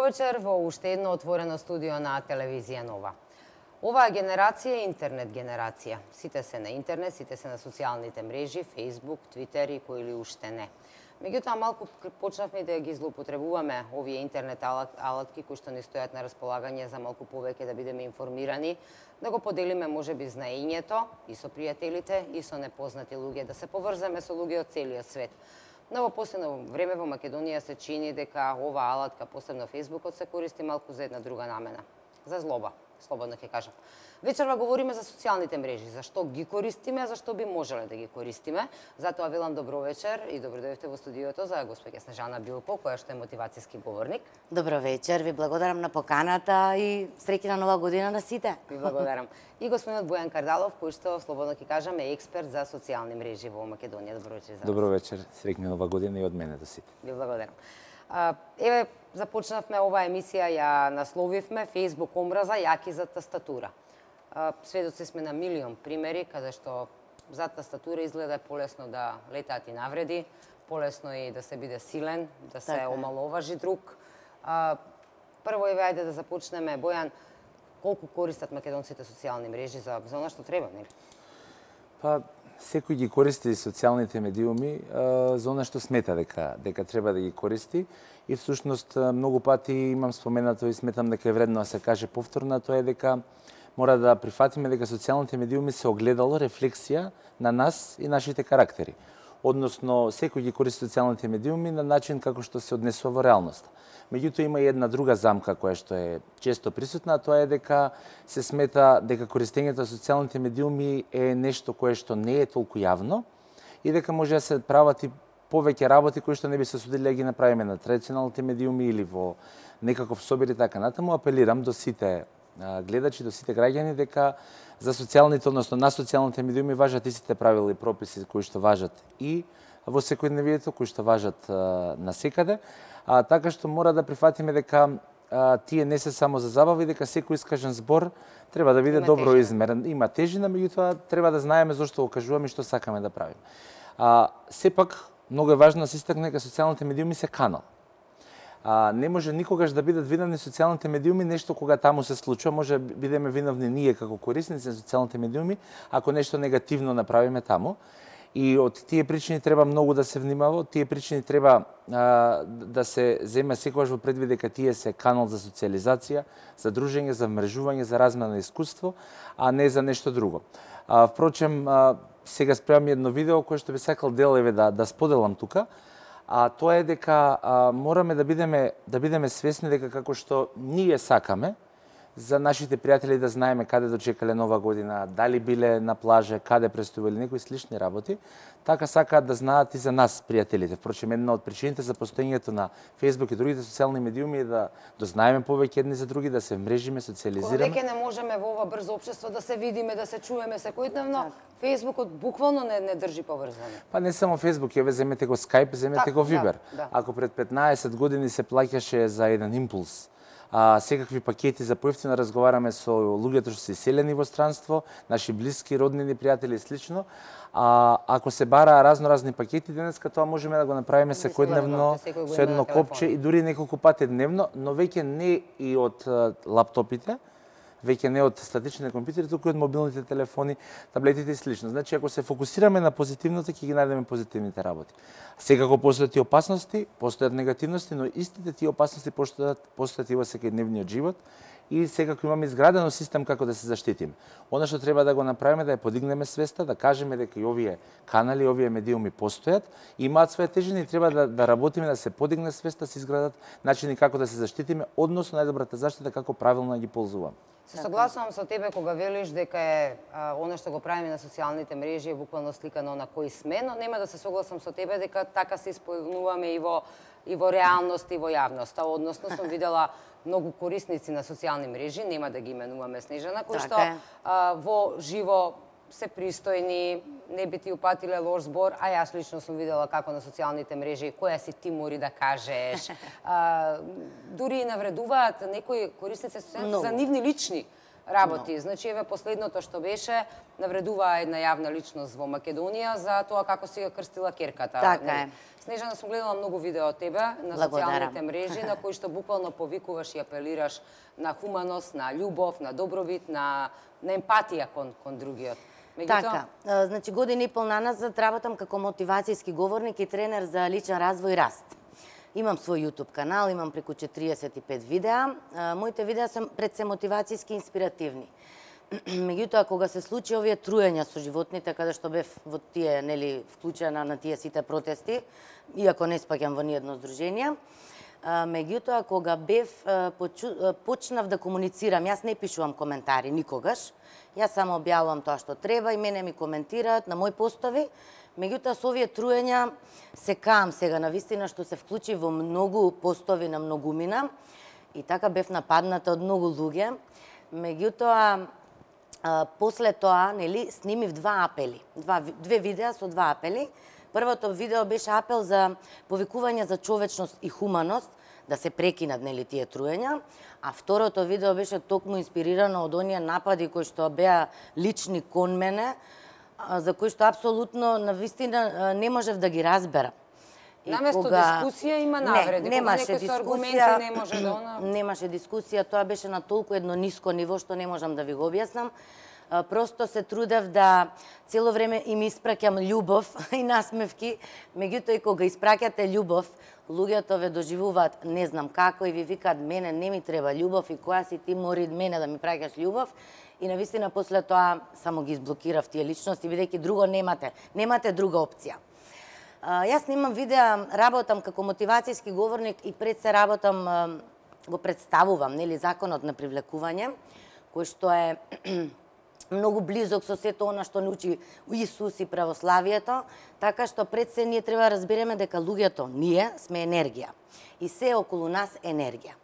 вечер во уште едно отворено студио на телевизија Нова. Оваа генерација е интернет генерација. Сите се на интернет, сите се на социјалните мрежи, Facebook, Twitter и кои ли уште не. Меѓутоа, малку почнавме да ги злоупотребуваме овие интернет алатки кои што ни стојат на располагање за малку повеќе да бидеме информирани, да го поделиме можеби знаењето и со пријателите и со непознати луѓе, да се поврземе со луѓе од целиот свет. Но во последно време во Македонија се чини дека оваа алатка, посебно Фејсбукот, се користи малку за една друга намена. За злоба, слободно ќе кажам. Вечерва говориме за социјалните мрежи, зашто ги користиме, зашто би можеле да ги користиме. Затоа велам добро вечер и добро дојдовте во студиото за госпоѓа Снежана Билко, која што е мотивацијски говорник. Добро вечер, ви благодарам на поканата и среќна нова година на сите. Ви благодарам. И господинот Бојан Кардалов, кој што, слободно ќе кажам, е експерт за социјални мрежи во Македонија. Добро вечер за вас. Добро вечер, среќна нова година и од мене до сите. Ви благодарам. Еве, започнавме оваа емисија, ја насловивме Facebook омраза, јаки за тастатура. Сведоци сме на милион примери каде што за тастатура изгледа полесно да летаат и навреди, полесно и да се биде силен, да се омаловажи друг. Прво еве ајде да започнеме, Бојан, колку користат македонците социјални мрежи за она што треба, нели? Па секој ги користи социјалните медиуми за она што смета дека треба да ги користи и всушност многу пати имам споменато и сметам дека е вредно да се каже повторно, тоа е дека мора да прифатиме дека социјалните медиуми се огледало, рефлексија на нас и нашите карактери. Односно, секој ги користи социјалните медиуми на начин како што се однесува во реалноста. Меѓутоа има и една друга замка која што е често присутна, а тоа е дека се смета дека користењето на социјалните медиуми е нешто кое што не е толку јавно и дека може да се прават и повеќе работи кои што не би се судили да ги направиме на традиционалните медиуми или во некаков собир и така натаму. Апелирам до сите гледачи, до сите граѓани дека за социјалните, односно на социјалните медиуми важат истите правила и прописи кои што важат и во секојдневието, кои што важат насекаде, така што мора да прифатиме дека тие не се само за забава и дека секој искажен збор треба да биде добро измерен. Има тежина, меѓутоа треба да знаеме зошто го кажуваме и што сакаме да правиме. Сепак многу е важно да се истакне дека социјалните медиуми се канал. Не може никогаш да бидат виновни социјалните медиуми нешто кога таму се случува, може да бидеме виновни ние како корисници на социјалните медиуми ако нешто негативно направиме таму. И од тие причини треба многу да се внимава, од тие причини треба да се земе секогаш во предвид дека тие се канал за социјализација, за дружење, за вмрежување, за размена на искуство, а не за нешто друго. Впрочем, сега спремам едно видео кое што би сакал делеве да споделам тука. Тоа е дека мораме да бидеме свесни дека како што ние сакаме за нашите пријатели да знаеме каде дочекале нова година, дали биле на плажа, каде престојувале некои слични работи, така сакаат да знаат и за нас пријателите. Впрочем, една од причините за постоењето на Facebook и другите социјални медиуми е да дознаеме повеќе едни за други, да се мрежиме, социјализираме. Кога веќе не можеме во ова брзо општество да се видиме, да се чуеме секојдневно, Фејсбукот буквално не држи поврзано. Па не само Фејсбук, еве земете го Skype, земете го Viber. Ако пред 15 години се плаќаше за еден импулс, секакви пакети за поевтино разговараме со луѓето што се иселени во странство, наши блиски, роднини, пријатели и слично. Ако се бара разни пакети, денеска тоа можеме да го направиме секојдневно со едно копче и дури неколку пати дневно, но веќе не и од лаптопите, веќе не од статичните компјутери, туку и од мобилните телефони, таблетите и слично. Значи, ако се фокусираме на позитивното, ќе ги најдеме позитивните работи. Секако постојат и опасности, постојат негативности, но истите тие опасности постојат и во секојдневниот живот и секако имаме изградено систем како да се заштитиме. Она што треба да го направиме да ја подигнеме свеста, да кажеме дека и овие канали, овие медиуми постојат, имаат своја тежина и треба да работиме да се подигне свеста, да се изградат начини како да се заштитиме, односно најдобрата заштита како правилно да ги ползуваме. Се согласувам со тебе кога велиш дека е она што го правиме на социјалните мрежи е буквално сликано на кои сме, но нема да се согласам со тебе дека така се исполнуваме и во реалност и во јавност. Односно сум видела многу корисници на социјални мрежи, нема да ги именуваме, Снежана, кои што во живо се пристојни, не би ти упатиле лош збор, а јас лично сум видела како на социјалните мрежи, која си ти мори да кажеш. Дури и навредуваат некои корисници за нивни лични работи. Значи, еве последното што беше, навредува една јавна личност во Македонија за тоа како си ја крстила керката. Така е. Снежана, сум гледала многу видео од тебе на социјалните мрежи, на кои што буквално повикуваш и апелираш на хуманост, на љубов, на добробит, на емпатија кон другиот. Така, значи година и пол наназад работам како мотивацијски говорник и тренер за личен развој и раст. Имам свој YouTube канал, имам преку 45 видеа. Моите видеа се пред се мотивацијски инспиративни. Меѓутоа, кога се случи овие труења со животните, каде што бев во тие, нели, вклучена на тие сите протести, иако не спаѓам во ниедно здружение, меѓутоа, кога бев, почнав да комуницирам, јас не пишувам коментари никогаш, јас само објавувам тоа што треба и мене ми коментираат на мои постови, меѓутоа со овие труења се каам сега на вистина што се вклучи во многу постови на многумина и така бев нападната од многу луѓе, меѓутоа после тоа, нели, снимив две видеа со два апели. Првото видео беше апел за повикување за човечност и хуманост, да се прекинат, нели, тие труења, а второто видео беше токму инспирирано од оние напади кои што беа лични кон мене, за кои што апсолутно на вистина не можев да ги разберам. Наместо дискусија има навреди. Немаше дискусија. Немаше дискусија, тоа беше на толку едно ниско ниво што не можам да ви го објаснам. Просто се трудев да цело време им испраќам љубов и насмевки, меѓутоа и кога испраќате љубов, луѓето ве доживуваат не знам како и ви викаат мене не ми треба љубов и која си ти мори мене да ми праќаш љубов. И навистина после тоа само ги изблокирав тие личности, бидејќи друго немате друга опција. Јас снимам видеа, работам како мотивацијски говорник и пред се работам, го представувам, нели, законот на привлекување, кој што е многу близок со сето она што ни учи Исус и православието, така што пред се ние треба да разбереме дека луѓето, ние сме енергија и се околу нас енергија.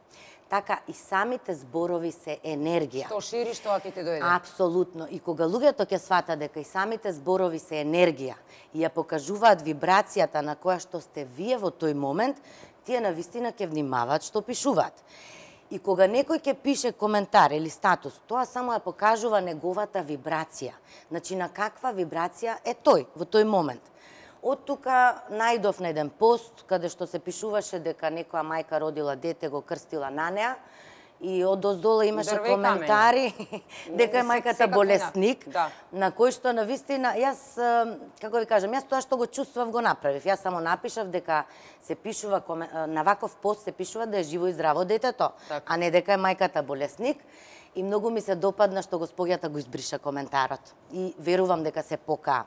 Така и самите зборови се енергија. Што шириш, тоа ќе ти дојде. Апсолутно. И кога луѓето ќе сватат дека и самите зборови се енергија и ја покажуваат вибрацијата на која што сте вие во тој момент, тие навистина ќе внимаваат што пишуваат. И кога некој ќе пише коментар или статус, тоа само ја покажува неговата вибрација. Значи на каква вибрација е тој во тој момент. Од тука најдов на еден пост каде што се пишуваше дека некоја мајка родила дете, го крстила на неа и од оздола имаше коментари дека е мајката болесник, на кој што навистина јас, како ви кажам, јас тоа што го чувствав го направив. Јас само напишав дека се пишува на ваков пост се пишува да е живо и здраво детето, а не дека е мајката болесник. И многу ми се допадна што господјата го избриша коментарот и верувам дека се покаа.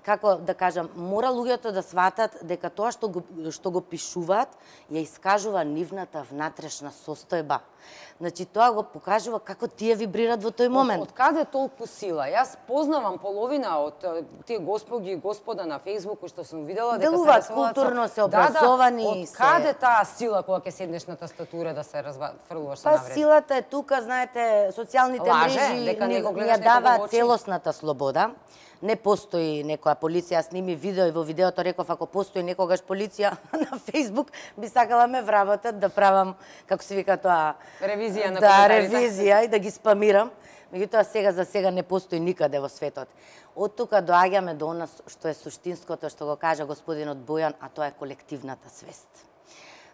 Како да кажам, мора луѓето да сватат дека тоа што го пишуваат ја искажува нивната внатрешна состојба. Значи тоа го покажува како тие вибрираат во тој момент. Од каде толку сила? Јас познавам половина од тие господи и господа на Facebook кои што сум видела дека делуваат културно, се образовани. Од каде таа сила кога ќе седнеш на тастатура да се фрлуваш со навреди? Па силата е тука, знаете, социјалните мрежи ја даваат целосната слобода. Не постои некоја полиција, сними видео и во видеото реков ако постои некогаш полиција на Facebook би сакала ме вработат да правам, како се вика тоа, ревизија на коментарите. Ревизија и да ги спамирам. Меѓутоа за сега не постои никаде во светот. Од тука доаѓаме до она што е суштинското што го кажа господинот Бојан, а тоа е колективната свест.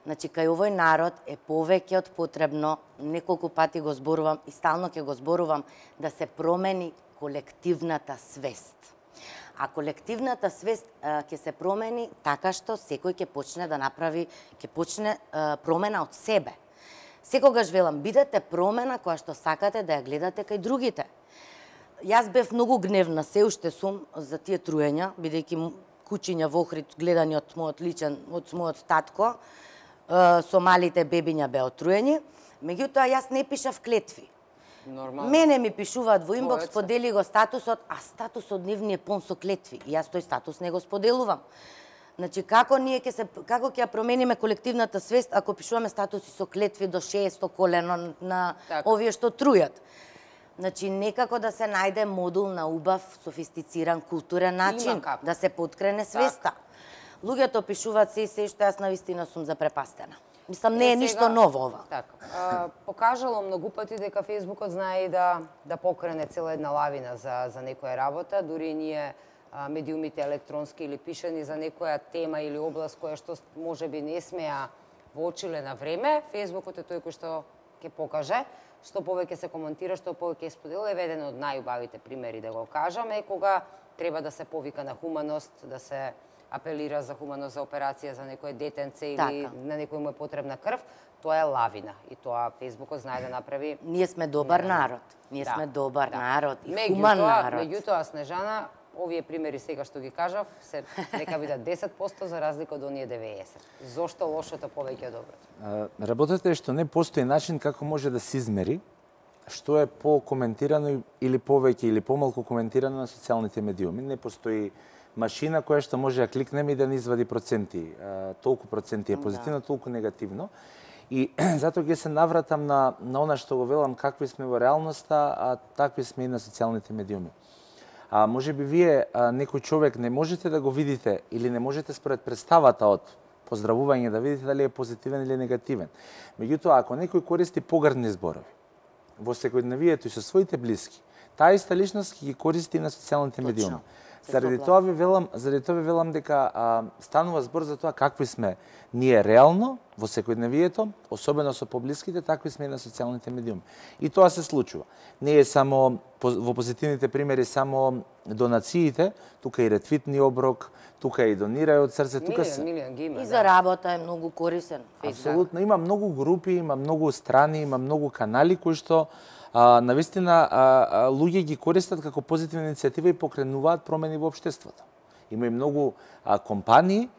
Значи, кај овој народ е повеќе од потребно, неколку пати го зборувам и стално ќе го зборувам, да се промени колективната свест. А колективната свест ќе се промени така што секој ќе почне да направи, ќе почне промена од себе. Секогаш велам, бидете промена која што сакате да ја гледате кај другите. Јас бев многу гневна, се уште сум за тие труења, бидејќи кучиња во Охрид гледани од мојот татко, со малите бебиња беа отруени, меѓутоа јас не пишав клетви. Нормално. Мене ми пишуваат во инбокс, сподели го статусот, а статусот нив ни е пон со клетви. И јас тој статус не го споделувам. Значи, како ќе ја промениме колективната свест ако пишуваме статуси со клетви до 600 колено на овие што трујат? Значи, некако да се најде модул на убав, софистициран, културен начин, да се поткрене свеста. Луѓето пишуваат се што јас навистина сум запрепастена. Мислам, не е ништо ново ова. Така. Покажало многу пати дека Фејсбукот знае и да покрене цела една лавина за некоја работа, дури ние медиумите електронски или пишани за некоја тема или област која што можеби не смеа воочиле на време, Фејсбукот е тој кој што ќе покаже, што повеќе се коментира, што повеќе се споделува. Еден од најубавите примери да го кажаме, кога треба да се повика на хуманост, да се апелира за хуманост, за операција за некое детенце или на некој му е потребна крв, тоа е лавина и тоа Фејсбукот знае да направи. Ние сме добар народ. Ние сме добар народ и хуман народ. Меѓутоа, Снежана, овие примери сега што ги кажав, се нека бидат 10% за разлика од оние 90%. Зошто лошото повеќе од доброто? Работата е што не постои начин како може да се измери што е по-коментирано или повеќе или помалку коментирано на социјалните медиуми. Не постои машина која што може да кликнеме и да ни извади проценти. Толку проценти е позитивно, толку негативно. И затоа ќе се навратам на она што го велам, какви сме во реалноста, а такви сме и на социјалните медиуми. Може би вие, некој човек, не можете да го видите или не можете според представата од поздравување да видите дали е позитивен или негативен. Меѓутоа, ако некој користи погрдни зборови во секојдневието и со своите блиски, таа иста личност ќе ги користи на социјалните медиуми. Заради тоа ви велам дека станува збор за тоа какви сме ние реално во секојдневието, особено со поблиските, такви сме и на социјалните медиуми. И тоа се случува. Не е само во позитивните примери само донациите, тука и ретвитни оброк, тука и донирај од срце, тука се. Милион ги има. И за работа е многу корисен. Апсолутно, има многу групи, има многу страни, има многу канали кои што навистина луѓе ги користат како позитивна иницијатива и покренуваат промени во општеството. Има и многу компании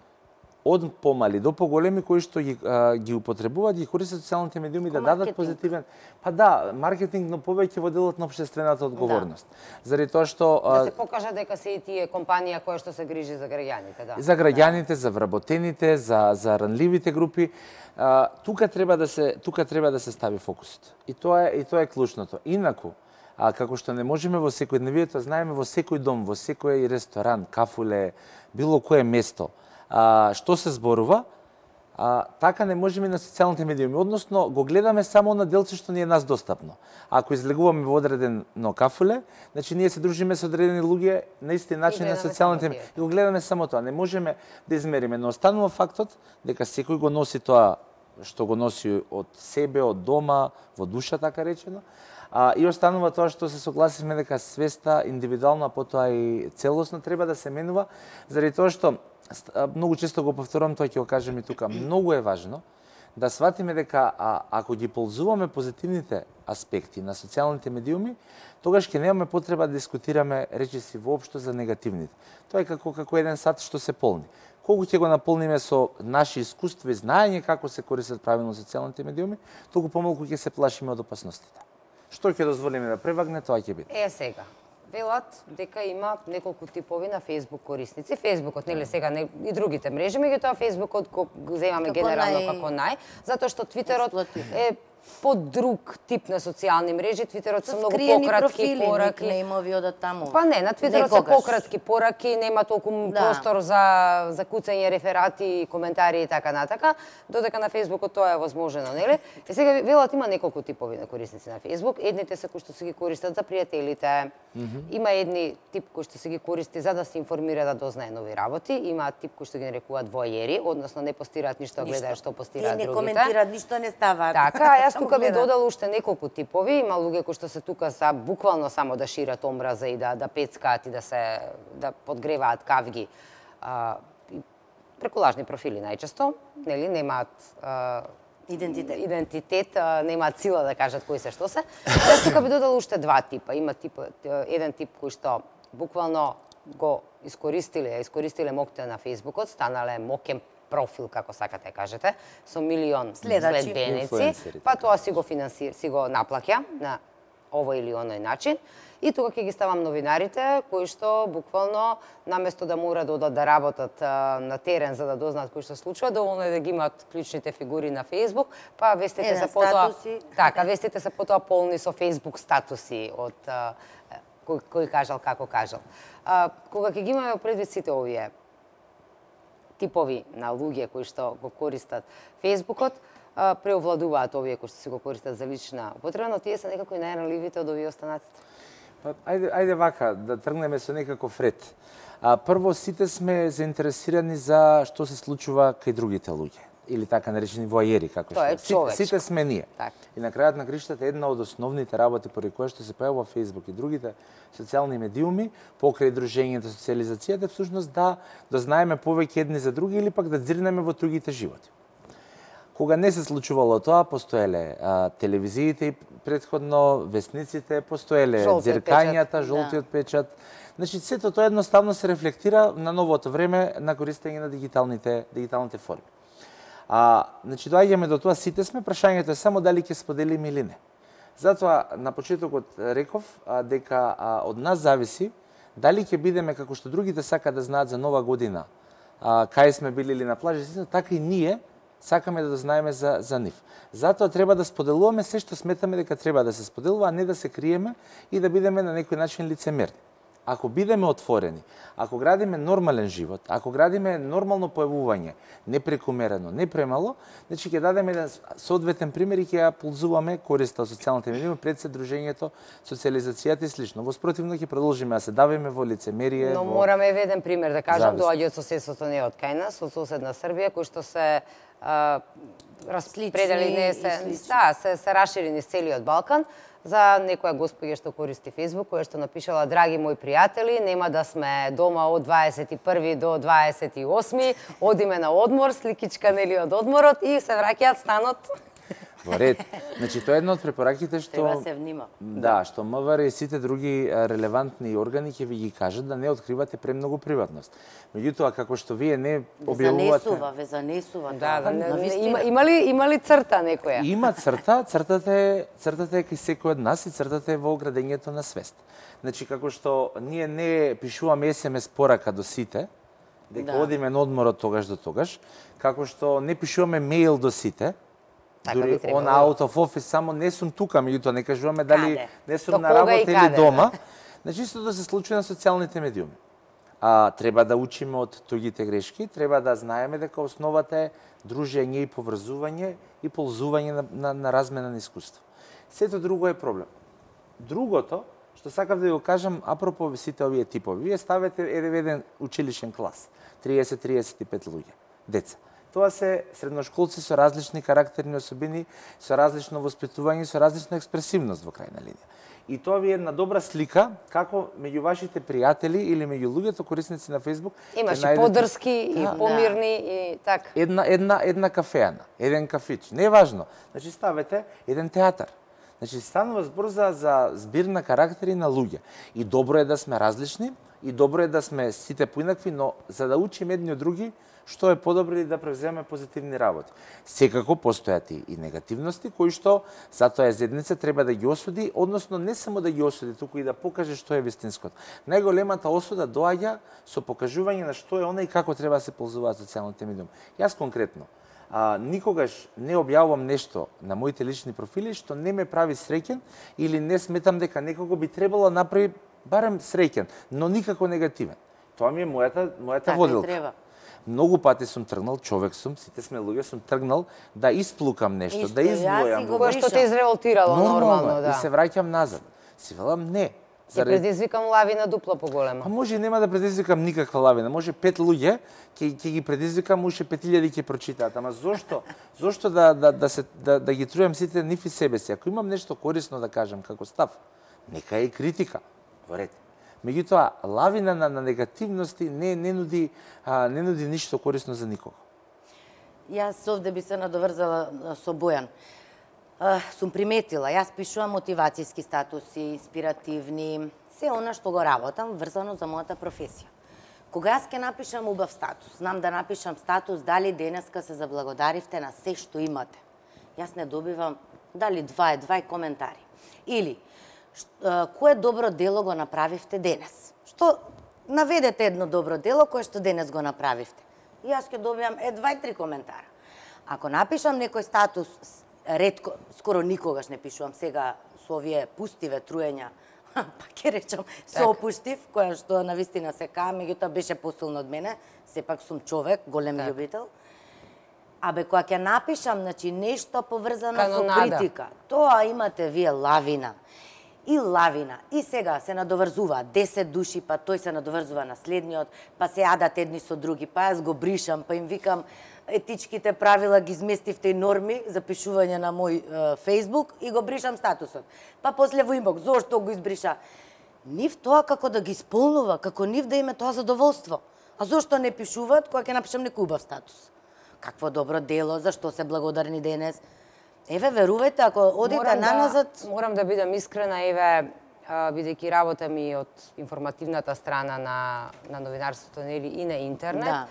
од помали до поголеми кои што ги употребуваат, ги користат социјалните медиуми да дадат позитивен. Маркетинг, но повеќе во делот на општествената одговорност. Заради тоа што да се покажа дека се и тие компанија која што се грижи за граѓаните, да. За граѓаните, за вработените, за ранливите групи. Тука треба да се стави фокусот. И тоа е клучното. Инаку, како што не можеме во секојдневието, знаеме во секој дом, во секој ресторан, кафуле, било кое место, што се зборува, така не можеме на социјалните медиуми. Односно, го гледаме само на делце што ни е нас достапно. Ако излегуваме во одредено кафуле, значи ние се дружиме со одредени луѓе на исти начин на социјалните медиуми. И го гледаме само тоа. Не можеме да измериме, но останува фактот дека секој го носи тоа што го носи од себе, од дома, во душа, така речено. И останува тоа што се согласивме дека свеста, индивидуална, потоа и целосно треба да се менува, заради тоа што многу често го повторувам, тоа ќе го кажем и тука. Многу е важно да сватиме дека ако ги ползуваме позитивните аспекти на социјалните медиуми, тогаш ќе немаме потреба да дискутираме речиси воопшто за негативните. Тоа е како еден сат што се полни. Колку ќе го наполниме со наши искуства и знаење како се користат правилно социјалните медиуми, толку помалку ќе се плашиме од опасностите. Што ќе дозволиме да превагне, тоа ќе биде. Сега. Велат дека има неколку типови на Facebook корисници. Фејсбукот, нели сега и другите мрежи, меѓутоа Фејсбукот го земаме генерално како нај, затоа што Твитерот е под друг тип на социјални мрежи. Твитерот се многу пократки пораки. Никнеимови одат таму. Па не, на Твитерот се пократки пораки, нема толку простор за куцање реферати, коментари и така натака, додека на Фејсбукот тоа е возможено, нели? И сега велат има неколку типови на корисници на Фејсбук. Едните се кои што се ги користат за пријателите. Има едни тип кои што се ги користи за да се информира, да дознае нови работи. Има тип кои што ги нарекуваат воајери, односно не постираат ништо, гледаат што постираат другите. Не коментираат, ништо не ставаат. Така, јас тука би додала уште неколку типови. Има луѓе кои што се тука за буквално само да шират омраза и да пецкаат и да подгреваат кавги. Преку лажни профили најчесто, нели, немаат идентитет, немаат сила да кажат кои се што се. Јас тука би додала уште два типа. Има еден тип кој што буквално го искористиле моќта на Фејсбукот, станале моќен профил, како сакате кажете, со милион следбеници, па тоа си го наплаќа на овој или оној начин. И тука ќе ги ставам новинарите, кои што буквално, наместо да мора да одат да работат на терен за да дознаат кои што случува, доволно е да ги имаат клучните фигури на Фејсбук, па вестите се потоа... Така, вестите се потоа полни со Фејсбук статуси од кој кажал, како кажал. Кога ќе ги имаме предвид сите овие типови на луѓе кои што го користат Фејсбукот, преовладуваат овие кои што си го користат за лична употреба, но тие се некако и најранливите од овие останатите. Па, ајде вака, да тргнеме со некаков ред. Прво, сите сме заинтересирани за што се случува кај другите луѓе. Или така наречени воајери, како Тоа е што. Сите сме ние. Так. И на крајот на криштата една од основните работи поради која што се појавува Facebook и другите социјални медиуми, покрај дружењето, социјализацијата, всушност да знаеме повеќе едни за други или пак да дзирнеме во другите животи. Кога не се случувало тоа, постоеле телевизиите и претходно, весниците, постоеле ѕиркањата, жолтиот печат. Значи, сето тоа едноставно се рефлектира на новото време на користење на дигиталните форми. Значи, доаѓаме до тоа, сите сме, прашањето е само дали ќе споделиме или не. Затоа, на почетокот реков дека од нас зависи дали ќе бидеме, како што другите сака да знаат за Нова година, кај сме били или на плажа, така и ние сакаме да знаеме за нив. Затоа треба да споделуваме се што сметаме дека треба да се споделува, а не да се криеме и да бидеме на некој начин лицемерни. Ако бидеме отворени, ако градиме нормален живот, ако градиме нормално појавување, не прекумерено, не премало, значи ќе дадеме еден соодветен пример и ќе ја ползуваме користа од социјалните медиуми пред се дружењето, социјализацијата и слично. Во спротивно ќе продолжиме да се давиме во лицемерие. Но мораме еден пример да кажам, доаѓа од соседството не од кај нас, од соседна Србија, кои што се распредели, се раширени низ целиот Балкан, за некоја господја што користи Фејсбук, која што напишала: драги мои пријатели, нема да сме дома од 21 до 28, одиме на одмор, сликичка нели од одморот и се враќаат станот. Во ред. Значи, тоа е една од препораките што... Треба се внима. Да, што МВР и сите други релевантни органи ќе ви ги кажат да не откривате премногу приватност. Меѓутоа, како што вие не објавувате... Ве занесува. Да, има ли црта некоја? Има црта, цртата е кај секој од нас и цртата е во градењето на свест. Значи, како што ние не пишуваме SMS порака до сите, дека одиме на одмор од тогаш до тогаш, како што не пишуваме мејл до сите, дури on out of office, само не сум тука, меѓутоа не кажуваме дали не сум на работа или дома. Значи, истото се случува на социјалните медиуми. Треба да учиме од туѓите грешки, треба да знаеме дека основата е дружење и поврзување и ползување на размена на искуство. Сето друго е проблем. Другото, што сакав да ви го кажам, апропо сите овие типови, вие ставете еден училишен клас, 30-35 луѓе, деца. Тоа се средношколци со различни карактерни особини, со различно воспитување, со различна експресивност во крајна линија. И тоа ви е една добра слика како меѓу вашите пријатели или меѓу луѓето корисници на Фејсбук имаш и подрски и помирни и така. Една кафеана, еден кафич, не е важно. Значи ставете еден театар. Значи станува збор за збир на карактери на луѓе. И добро е да сме различни, и добро е да сме сите поинакви, но за да учиме едни од други, што е подобро и да превземе позитивни работи. Секако постојат и негативности, кои што затоа езедница треба да ги осуди, односно не само да ги осуди, туку и да покаже што е вистинското. Најголемата осуда доаѓа со покажување на што е она и како треба да се ползуваат социјалните медиуми. Јас конкретно, никогаш не објавувам нешто на моите лични профили што не ме прави среќен или не сметам дека некого би требало да направи барем среќен, но никако негативен. Тоа ми е мојата водилка. Многу пати сум тргнал, човек сум, сите сме луѓе, сум тргнал да исплукам нешто, да изблојам. Кое што те изреволтирало нормално, да. И се враќам назад. Си велам не. Ќе предизвикам лавина дупло поголема. Па може и нема да предизвикам никаква лавина. Може 5 луѓе ќе ги предизвикам, уште 5000 ќе прочитаат. Ама зошто? Зошто да ги трујам сите нив и себе си? Ако имам нешто корисно да кажам како став, нека е критика. Во ред. Меѓутоа, лавина на негативности не нуди ништо корисно за никого. Јас овде би се надоврзала со Бојан. Сум приметила, јас пишувам мотивацијски статуси, инспиративни, се она што го работам врзано за мојата професија. Кога јас ќе напишам убав статус, знам да напишам статус дали денеска се заблагодаривте на се што имате. Јас не добивам дали два коментари. Или кое добро дело го направивте денес? Што наведете едно добро дело кое што денес го направивте? И јас ќе добијам 2-3 коментара. Ако напишам некој статус, ретко, скоро никогаш не пишувам сега со овие пусти ветруења, па ќе речам се опуштив, која што навистина се каа, меѓутоа беше посилно од мене, сепак сум човек, голем љубител. Абе, кога ќе напишам, значи, нешто поврзано со Канонада. критика, тоа имате вие лавина. И лавина. И сега се надоврзува 10 души, па тој се надоврзува на следниот, па се јадат едни со други, па јас го бришам, па им викам етичките правила ги изместивте и норми за пишување на мој Facebook и го бришам статусот. Па после во инбокс, зошто го избриша? Нив тоа како да ги исполнува, како нив да име тоа задоволство. А зошто не пишуваат кога ќе напишам некој убав статус? Какво добро дело, зашто се благодарни денес? Еве, верувајте, ако одите наназад... Морам да бидам искрена, еве, бидејќи работам и од информативната страна на новинарството, нели, и на интернет,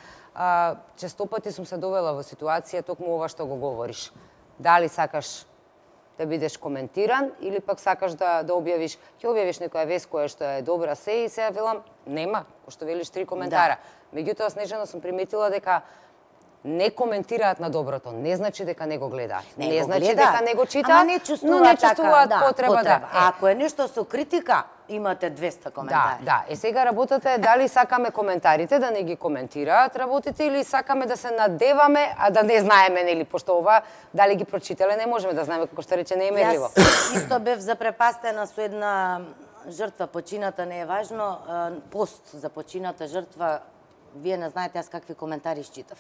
често пати сум се довела во ситуација токму ова што го говориш. Дали сакаш да бидеш коментиран или пак сакаш да објавиш, ќе објавиш некоја вест која што е добра се и се велам нема, што велиш 3 коментара. Меѓутоа, Снежана, сум приметила дека не коментираат на доброто, не значи дека не го гледаат. Не значи дека не го читаат, но не чувствуваат потреба да. Ако е нешто со критика, имате 200 коментари. Да. Сега работата е дали сакаме коментарите да не ги коментираат работите или сакаме да се надеваме, а да не знаеме, нели, пошто ова дали ги прочитале не можеме да знаеме, како што рече, не е мерливо. Јас исто бев запрепастена со една жртва, почината не е важно, пост за почината жртва, вие не знаете јас какви коментари изчитав.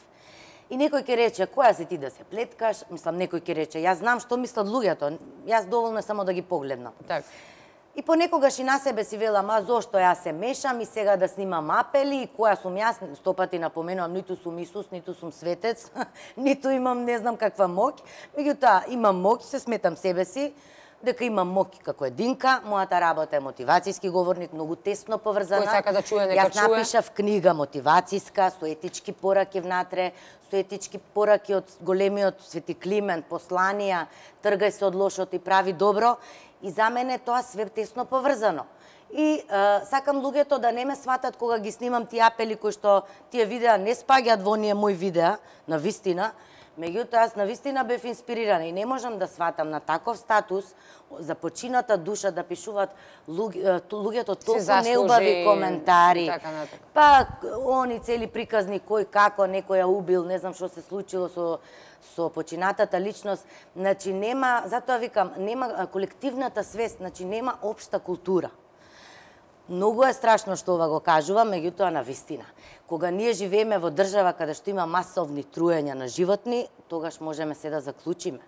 И некој ќе рече, која си ти да се плеткаш? Мислам, некој ќе рече, јас знам што мислат луѓето, јас доволно е само да ги погледнам. Так. И понекогаш и на себе си велам, а зошто јас се мешам и сега да снимам апели, и која сум јас, 100 пати напоменувам, ниту сум Исус, ниту сум светец, ниту имам не знам каква моќ, меѓутоа имам моќ, се сметам себе си, дека имам моќ како единка, мојата работа е мотивацијски говорник, многу тесно поврзана. Кој сака да чуе, нека чуе. Јас напишав книга мотивацијска, со етички пораки внатре, со етички пораки од големиот Свети Климент, посланија, тргај се од лошото и прави добро, и за мене тоа све тесно поврзано. И сакам луѓето да не ме сватат кога ги снимам тие апели кои што тие видеа не спаѓаат во оние мои видеа, на вистина. Меѓутоа, јас на вистина бев инспирирана и не можам да сватам на таков статус за почината душа да пишуваат луѓето толку неубави коментари. Па, они цели приказни кој како некој ја убил, не знам што се случило со починатата личност. Значи, нема, затоа викам, нема колективната свест, значи нема општа култура. Многу е страшно што ова го кажувам, меѓутоа на вистина. Кога ние живееме во држава каде што има масовни труења на животни, тогаш можеме се да заклучиме.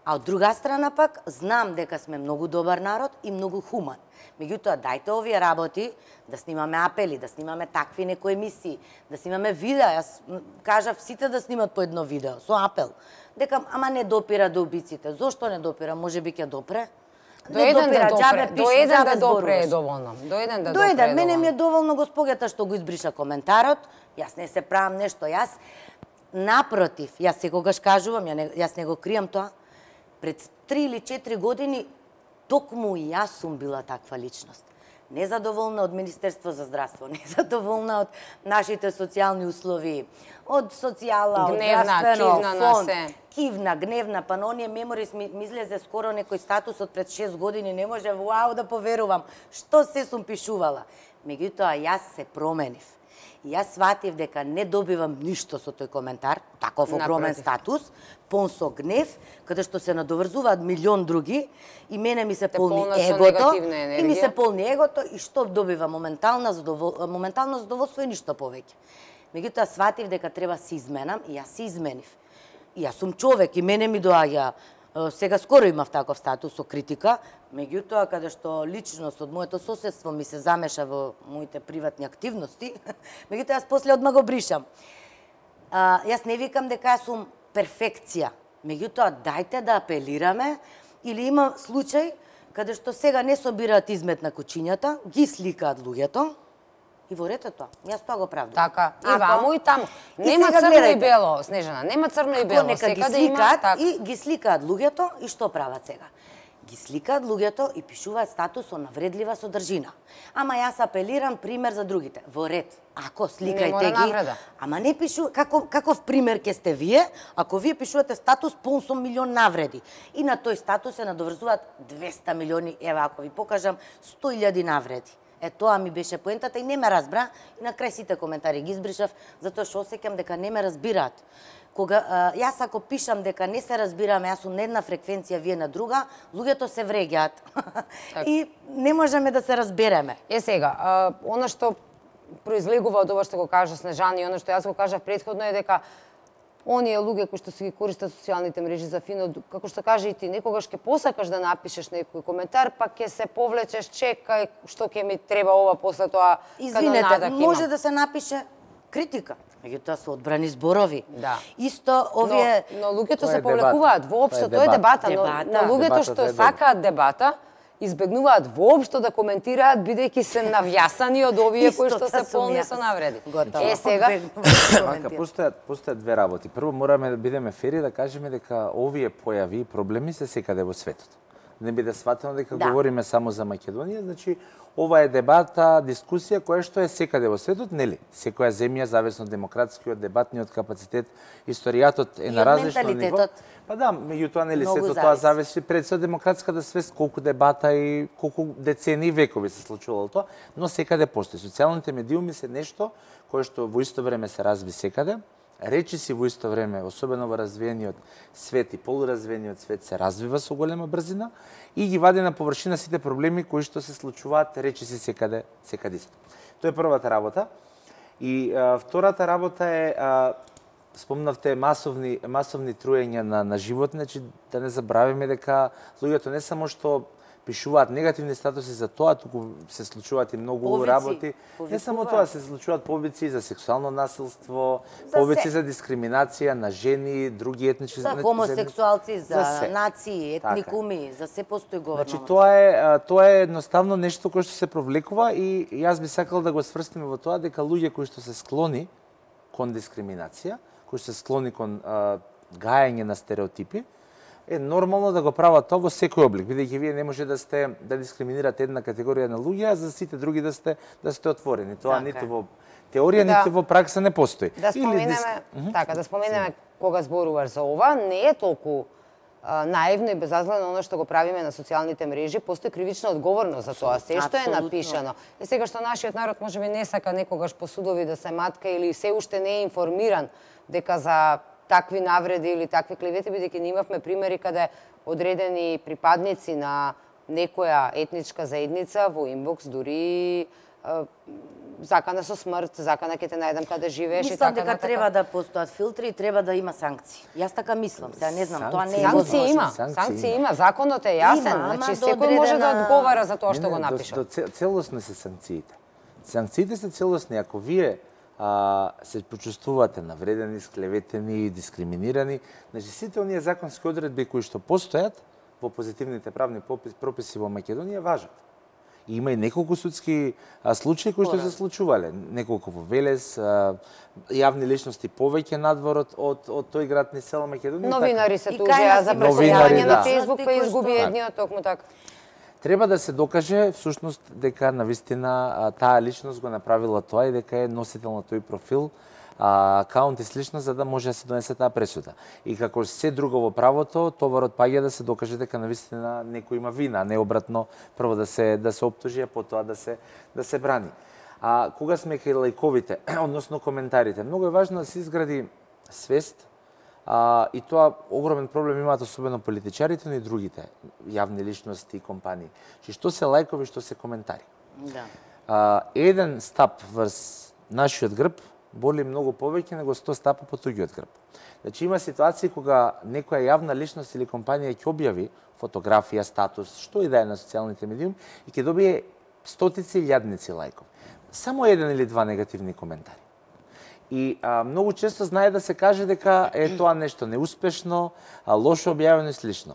А од друга страна пак, знам дека сме многу добар народ и многу хуман. Меѓутоа, дајте овие работи, да снимаме апели, да снимаме такви некои емисии, да снимаме видеа. Јас кажав сите да снимат по едно видео, со апел. Дека, ама не допира до убиците. Зошто не допира? Може би ќе допре? До еден да допре е доволно. До еден да допре. Мене ми е доволно госпогата што го избриша коментарот. Јас не се правам нешто. Јас, напротив, јас секогаш кажувам, јас не го кријам тоа. Пред 3 или 4 години, токму и јас сум била таква личност. Незадоволна од Министерство за здравство, незадоволна од нашите социјални услови, од социјала, од здравствено, фонд, кивна, гневна, па на оние меморис ми излезе скоро некој статус од пред 6 години, не може вау да поверувам, што се сум пишувала. Меѓутоа, јас се променив. И јас сватив дека не добивам ништо со тој коментар, таков огромен статус, пон со гнев, каде што се надоврзуваат милион други, и мене ми се полни егото, и ми се полни егото, и што добива моментално задоволство и ништо повеќе. Меѓутоа, сватив дека треба се изменам, и јас се изменив. И јас сум човек, и мене ми доаѓа, сега скоро имав таков статус со критика, меѓутоа, каде што личност од моето соседство ми се замеша во моите приватни активности, меѓутоа, јас после одма го бришам. Јас не викам дека јас сум перфекција, меѓутоа, дајте да апелираме, или има случај каде што сега не собираат измет на кучињата, ги сликаат луѓето, и во ред е тоа. Јас тоа го правдам. Така, и ваму и таму. Нема црно и бело, Снежана, нема црно и бело. Нека ги сликаат и ги сликаат луѓето, и што прават сега? Ги сликаат луѓето и пишуваат статус со навредлива содржина. Ама јас апелирам пример за другите. Во ред. Ако сликајте ги, ама не пишу каков пример ќе сте вие, ако вие пишувате статус пун со милион навреди. И на тој статус се надоврзуваат 200 милиони, ева ако ви покажам 100.000 навреди. Тоа ми беше поентата и не ме разбра и на крај сите коментари ги избришав затоа што осеќам дека не ме разбираат. Кога јас ако пишам дека не се разбираме, јас сум на една фреквенција, вие на друга, луѓето се вреѓаат. И не можеме да се разбереме. Сега, она што произлегува од ова што го кажа Снежана и она што јас го кажав претходно е дека оние луѓе кои што се ги користат социјалните мрежи за фино, како што кажа и ти, некогаш ќе посакаш да напишеш некој коментар, па ќе се повлечеш, чекај, што ќе ми треба ова после тоа. Извинете, може да се напише критика, меѓутоа се одбрани зборови. Да. Исто овие... Но луѓето се повлекуваат воопшто, тоа е дебата, но луѓето што сакаат дебата, избегнуваат воопшто да коментираат, бидејќи се навјасани од овие кои што се полни со навреди. Сега постојат две работи. Прво мораме да бидеме фери да кажеме дека овие појави и проблеми се секаде во светот. Не биде сватено дека говориме само за Македонија, значи ова е дебата, дискусија која што е секаде во светот, нели? Секоја земја зависно од демократскиот, дебатниот капацитет, историјатот е на различно ниво. Па да, меѓутоа нели сето тоа зависи пред се од демократската свест, колку дебата и колку децении векови се случувало тоа, но секаде постои. Социјалните медиуми се нешто кое што во исто време се разви секаде. Речиси во исто време, особено во развиениот свет и полуразвиениот свет, се развива со голема брзина и ги вади на површина сите проблеми кои што се случуваат речиси секаде исто. Тоа е првата работа. И втората работа е, спомнавте масовни труења на животни, значи да не забравиме дека луѓето не само што пишуваат негативни статуси за тоа, туку се случуваат и многу работи. Не само тоа, се случуваат повици за сексуално насилство, повици за дискриминација на жени, други етнички... За хомосексуалци, за нации, етникуми, за се постои говорно. Значи, тоа е едноставно нешто кое што се провлекува и јас би сакал да го сврстиме во тоа дека луѓе кои што се склони кон дискриминација, кои што се склони кон гајање на стереотипи, е нормално да го прават тоа во секој облик, бидејќи вие не може да дискриминирате една категорија на луѓе, а за сите други да сте отворени. Тоа ниту во теорија, ниту во пракса не постои. Да споменеме кога зборуваш за ова, не е толку наивно и безазлено оно што го правиме на социјалните мрежи, постои кривична одговорност за тоа, се што е напишано. И сега што нашиот народ можеби не сака некогаш по судови да се матка или се уште не е информиран дека за такви навреди или такви клевети, бидејќи ние имавме примери каде одредени припадници на некоја етничка заедница во инбокс дури закана со смрт, закана ќе те најдам каде живееш и така натаму. Мислам дека треба да постојат филтри и треба да има санкции. Јас така мислам, сега не знам, тоа не е возможно. Санкции има, законот е јасен, значи секој може да одговара за тоа што го напишал. Целосни се санкциите. Санкциите се целосни, ако вие се почувствувате навредени, склеветени, дискриминирани, значи сите оние законски одредби кои што постојат во позитивните правни прописи во Македонија важат. И има и неколку судски случаи кои што се случувале, неколку во Велес, јавни личности повеќе надвор од тој град низ цела Македонија. Новинари се тужеа за преследување на Facebook, па изгуби едниот токму така. Треба да се докаже всушност дека навистина таа личност го направила тоа и дека е носител на тој профил, акаунт и слично, за да може да се донесе таа пресуда. И како се друго во правото, товарот паѓа да се докаже дека навистина некој има вина, а не обратно, прво да се оптужи, а потоа да се брани. Кога сме кај лајковите, односно коментарите, многу е важно да се изгради свест. И тоа огромен проблем имаат особено политичарите, но и другите јавни личности и компании. Што се лајкови, што се коментари. Да. Еден стап врз нашиот грб боли многу повеќе него 100 стапа по туѓиот грб. Значи има ситуации кога некоја јавна личност или компанија ќе објави фотографија, статус, што и да е на социјалните медиуми и ќе добие стотици илјадници лајкови. Само еден или два негативни коментари. И многу често знае да се каже дека е тоа нешто неуспешно, лошо објавено и слично.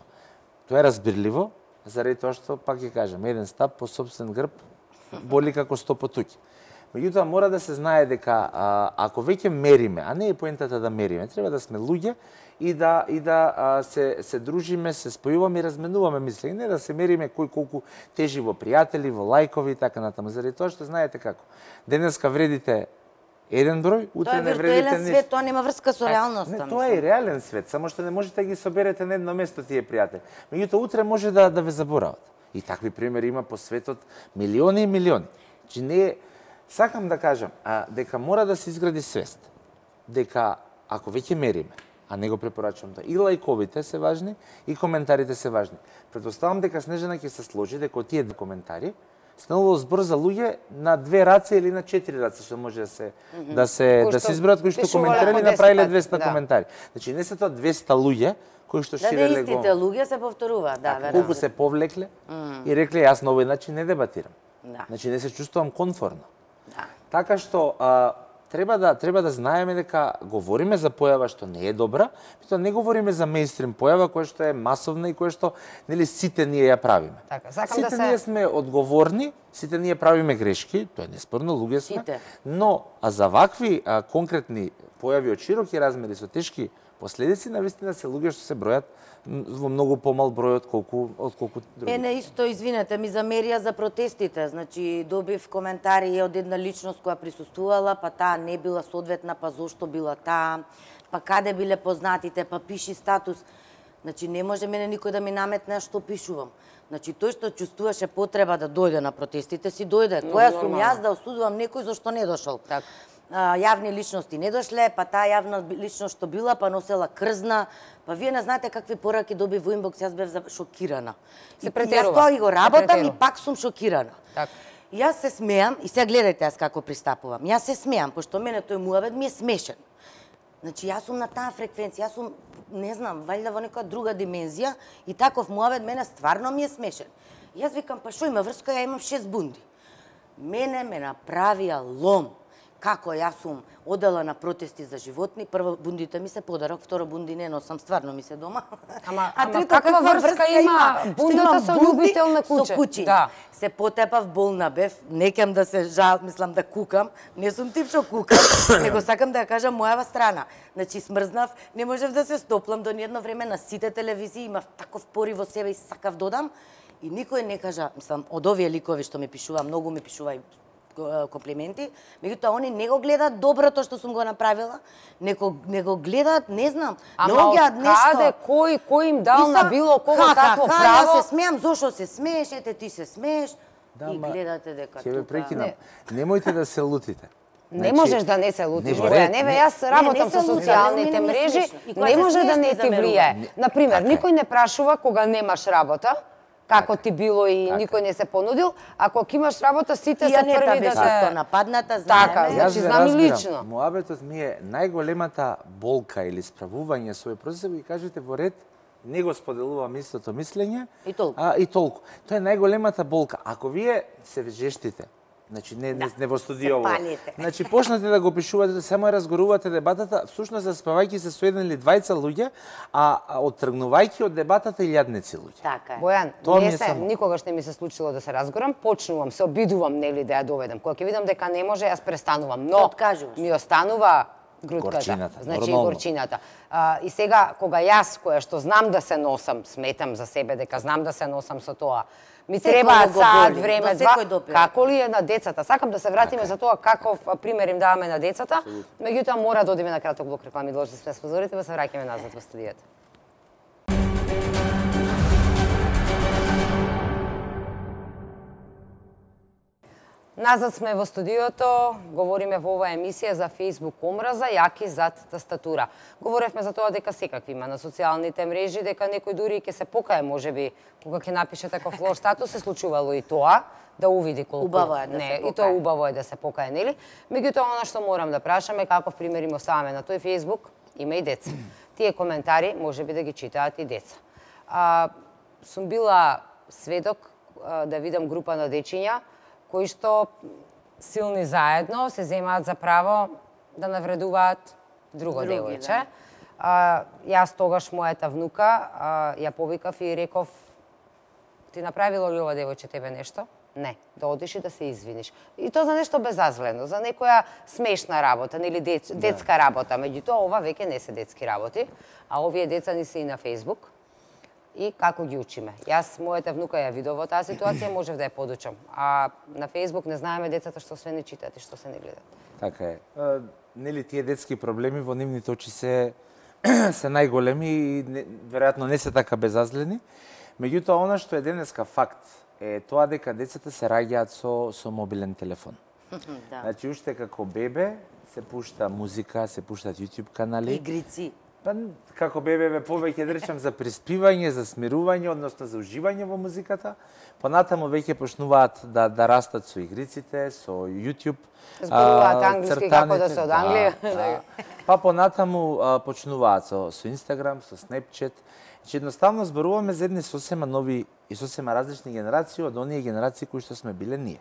Тоа е разбирливо, заради тоа што, пак ќе кажам, еден стап по собствен грб боли како 100 по туѓи. Меѓутоа мора да се знае дека ако веќе мериме, а не е поентата да мериме, треба да сме луѓе и да се дружиме, се спојуваме и разменуваме мисли, не да се мериме кој колку тежи во пријатели, во лајкови и така натаму. Заради тоа што знаете како. Денеска вредите еден број, утре не вредите нешто. Тоа е виртуелен свет, тоа нема врска со реалноста. Не, тоа е реален свет, само што не можете да ги соберете на едно место тие пријатели. Меѓутоа утре може да ве заборават. И такви примери има по светот милиони и милиони. Значи не сакам да кажам дека мора да се изгради свест. Дека ако веќе мериме, а не го препорачувам тоа, и лајковите се важни, и коментарите се важни. Предпоставам дека Снежана ќе се сложи дека тие коментари станува збор за луѓе на 2 раце или на 4 раце, што може да се избројат кои што коментирали направиле 200 коментари. Значи не се тоа 200 луѓе кои што ширеле го. Истите луѓе се повторуваат, да, веројатно. Колку се повлекле и рекле јас на овој начин не дебатирам. Да. Значи не се чувствувам комфортно. Да. Така што треба да знаеме дека говориме за појава што не е добра, меѓутоа не говориме за мејнстрим појава која што е масовна и која што нели сите ние ја правиме. Така, сакам сите да се ние сме одговорни, сите ние правиме грешки, тоа е неспорно, луѓе сме, Сите. но за вакви конкретни појави од широки размери со тешки последици, навистина се луѓе што се бројат во многу помал број од колку други. Мене исто, извинете, ми замерија за протестите. Значи, добив коментари од една личност која присуствувала, па таа не била соодветна, па зошто била таа, па каде биле познатите, па пиши статус. Значи, не може мене никој да ми наметне што пишувам. Значи, тој што чувствуваше потреба да дојде на протестите, си дојде. Која сум јас да осудувам некој зашто не дошол? Так. Јавни личности не дошле, па таа јавна личност што била, па носела крзна, па вие не знаете какви пораки доби во инбокс, јас бев шокирана. Се претерува. Јас тоа и го работам и пак сум шокирана. Така. Јас се смеам и сега гледајте јас како пристапувам. Јас се смеам, пошто мене тој муавет ми е смешен. Значи јас сум на таа фреквенција, јас сум, не знам, валјда во нека друга димензија и таков муавет мене стварно ми е смешен. Јас викам, па што има врска, ја имам 6 бунди. Мене ме направија лом. Како јас сум одела на протести за животни, прво бундите ми се подарок, второ бунди не носам, стварно ми се дома. Ама каква врска има бундата со љубител на куче? Со кучиња. Да. Се потепав, болна бев, не кем да се мислам да кукам, не сум тип што кукам, него сакам да ја кажам мојава страна. Значи смрзнав, не можев да се стоплам до ниедно време на сите телевизии, имав таков порив во себе и сакав додам и никој не кажа, мислам, од овие ликови што ми пишува, многу ми пишува и комплименти, меѓутоа они не го гледаат доброто што сум го направила, не го гледаат, не знам, наоѓаат нешто. Каде, кој им дал на било кого какво право? Јас се смеам, зошто се смееш, ете ти се смееш и гледате дека тука. Ќе ве прекинам. Не. Немојте да се лутите. Не можеш да не се лутиш, не, Боја. Не, јас работам со социјалните мрежи, не може да не ти влијае. Например, никој не прашува кога немаш работа, како ти било и никој не се понудил, ако имаш работа, сите се први да се нападната, знаеме. Така, значи знам и лично. Муабетот ми е најголемата болка или справување со овој процес, ги кажете во ред, не го споделувам истото мислење. И толку. И толку. Тоа е најголемата болка. Ако вие се жештите, значи не во студиово. Значи почнате да го пишувате, само ја разгорувате дебатата, всушност заспавајќи се со еден или двајца луѓе, а оттргнувајќи од дебатата илјадници луѓе. Така е. Бојан, никогаш не ми се случило да се разгорам, почнувам, се обидувам нели да ја доведам. Кога ќе видам дека не може, јас престанувам, но ми останува грутката, значи горчината. И сега кога јас која што знам да се носам, сметам за себе дека знам да се носам со тоа, ми требаат саат време, два, како ли е на децата? Сакам да се вратиме за тоа каков пример им даваме на децата, меѓутоа мора да одиме на краток блок реклами, должни сме спозорите, па се враќаме назад во студијата. Назад сме во студиото, говориме во оваа емисија за Facebook омраза, јаки зад тастатура. Говоревме за тоа дека секакви има на социјалните мрежи, дека некој дури ќе се покае, можеби, кога ќе напише таков лош статус, се случувало и тоа, да увиди колку... Убаво е да се покае. И тоа убаво е да се покае, нели? Меѓутоа, она што морам да прашаме, каков пример им оставаме на тој Facebook, има и деца. Тие коментари, можеби да ги читаат и деца. Сум била сведок да видам група на дечиња, кои што силни заедно се земаат за право да навредуваат друго девојче. Јас тогаш мојата внука ја повикав и реков: ти направило ли ова девојче тебе нешто? Не, да одиш и да се извиниш. И тоа за нешто безазлено, за некоја смешна работа, нели детска работа. Меѓутоа, ова веќе не се детски работи, а овие деца ни се и на Facebook. И како ги учиме. Јас, мојата внука ја видов во таа ситуација, можев да ја подучам. А на Facebook не знаеме децата што се не читаат и што се не гледаат. Така е. Нели тие детски проблеми во нивните очи се најголеми и веројатно не се така безазлени. Меѓутоа, она што е денеска факт е тоа дека децата се раѓаат со мобилен телефон. Да. Значи, уште како бебе се пушта музика, се пуштат YouTube канали. Игрици. Па, како бебе повеќе да речам за приспивање, за смирување, односно за уживање во музиката. Понатаму веќе почнуваат да растат со игриците, со YouTube. Зборуваат англиски како да се од Англија. Да. Па понатаму почнуваат со Instagram, со Snapchat. Значи едноставно зборуваме за едни сосема нови и сосема различни генерации од оние генерации кои што сме биле ние.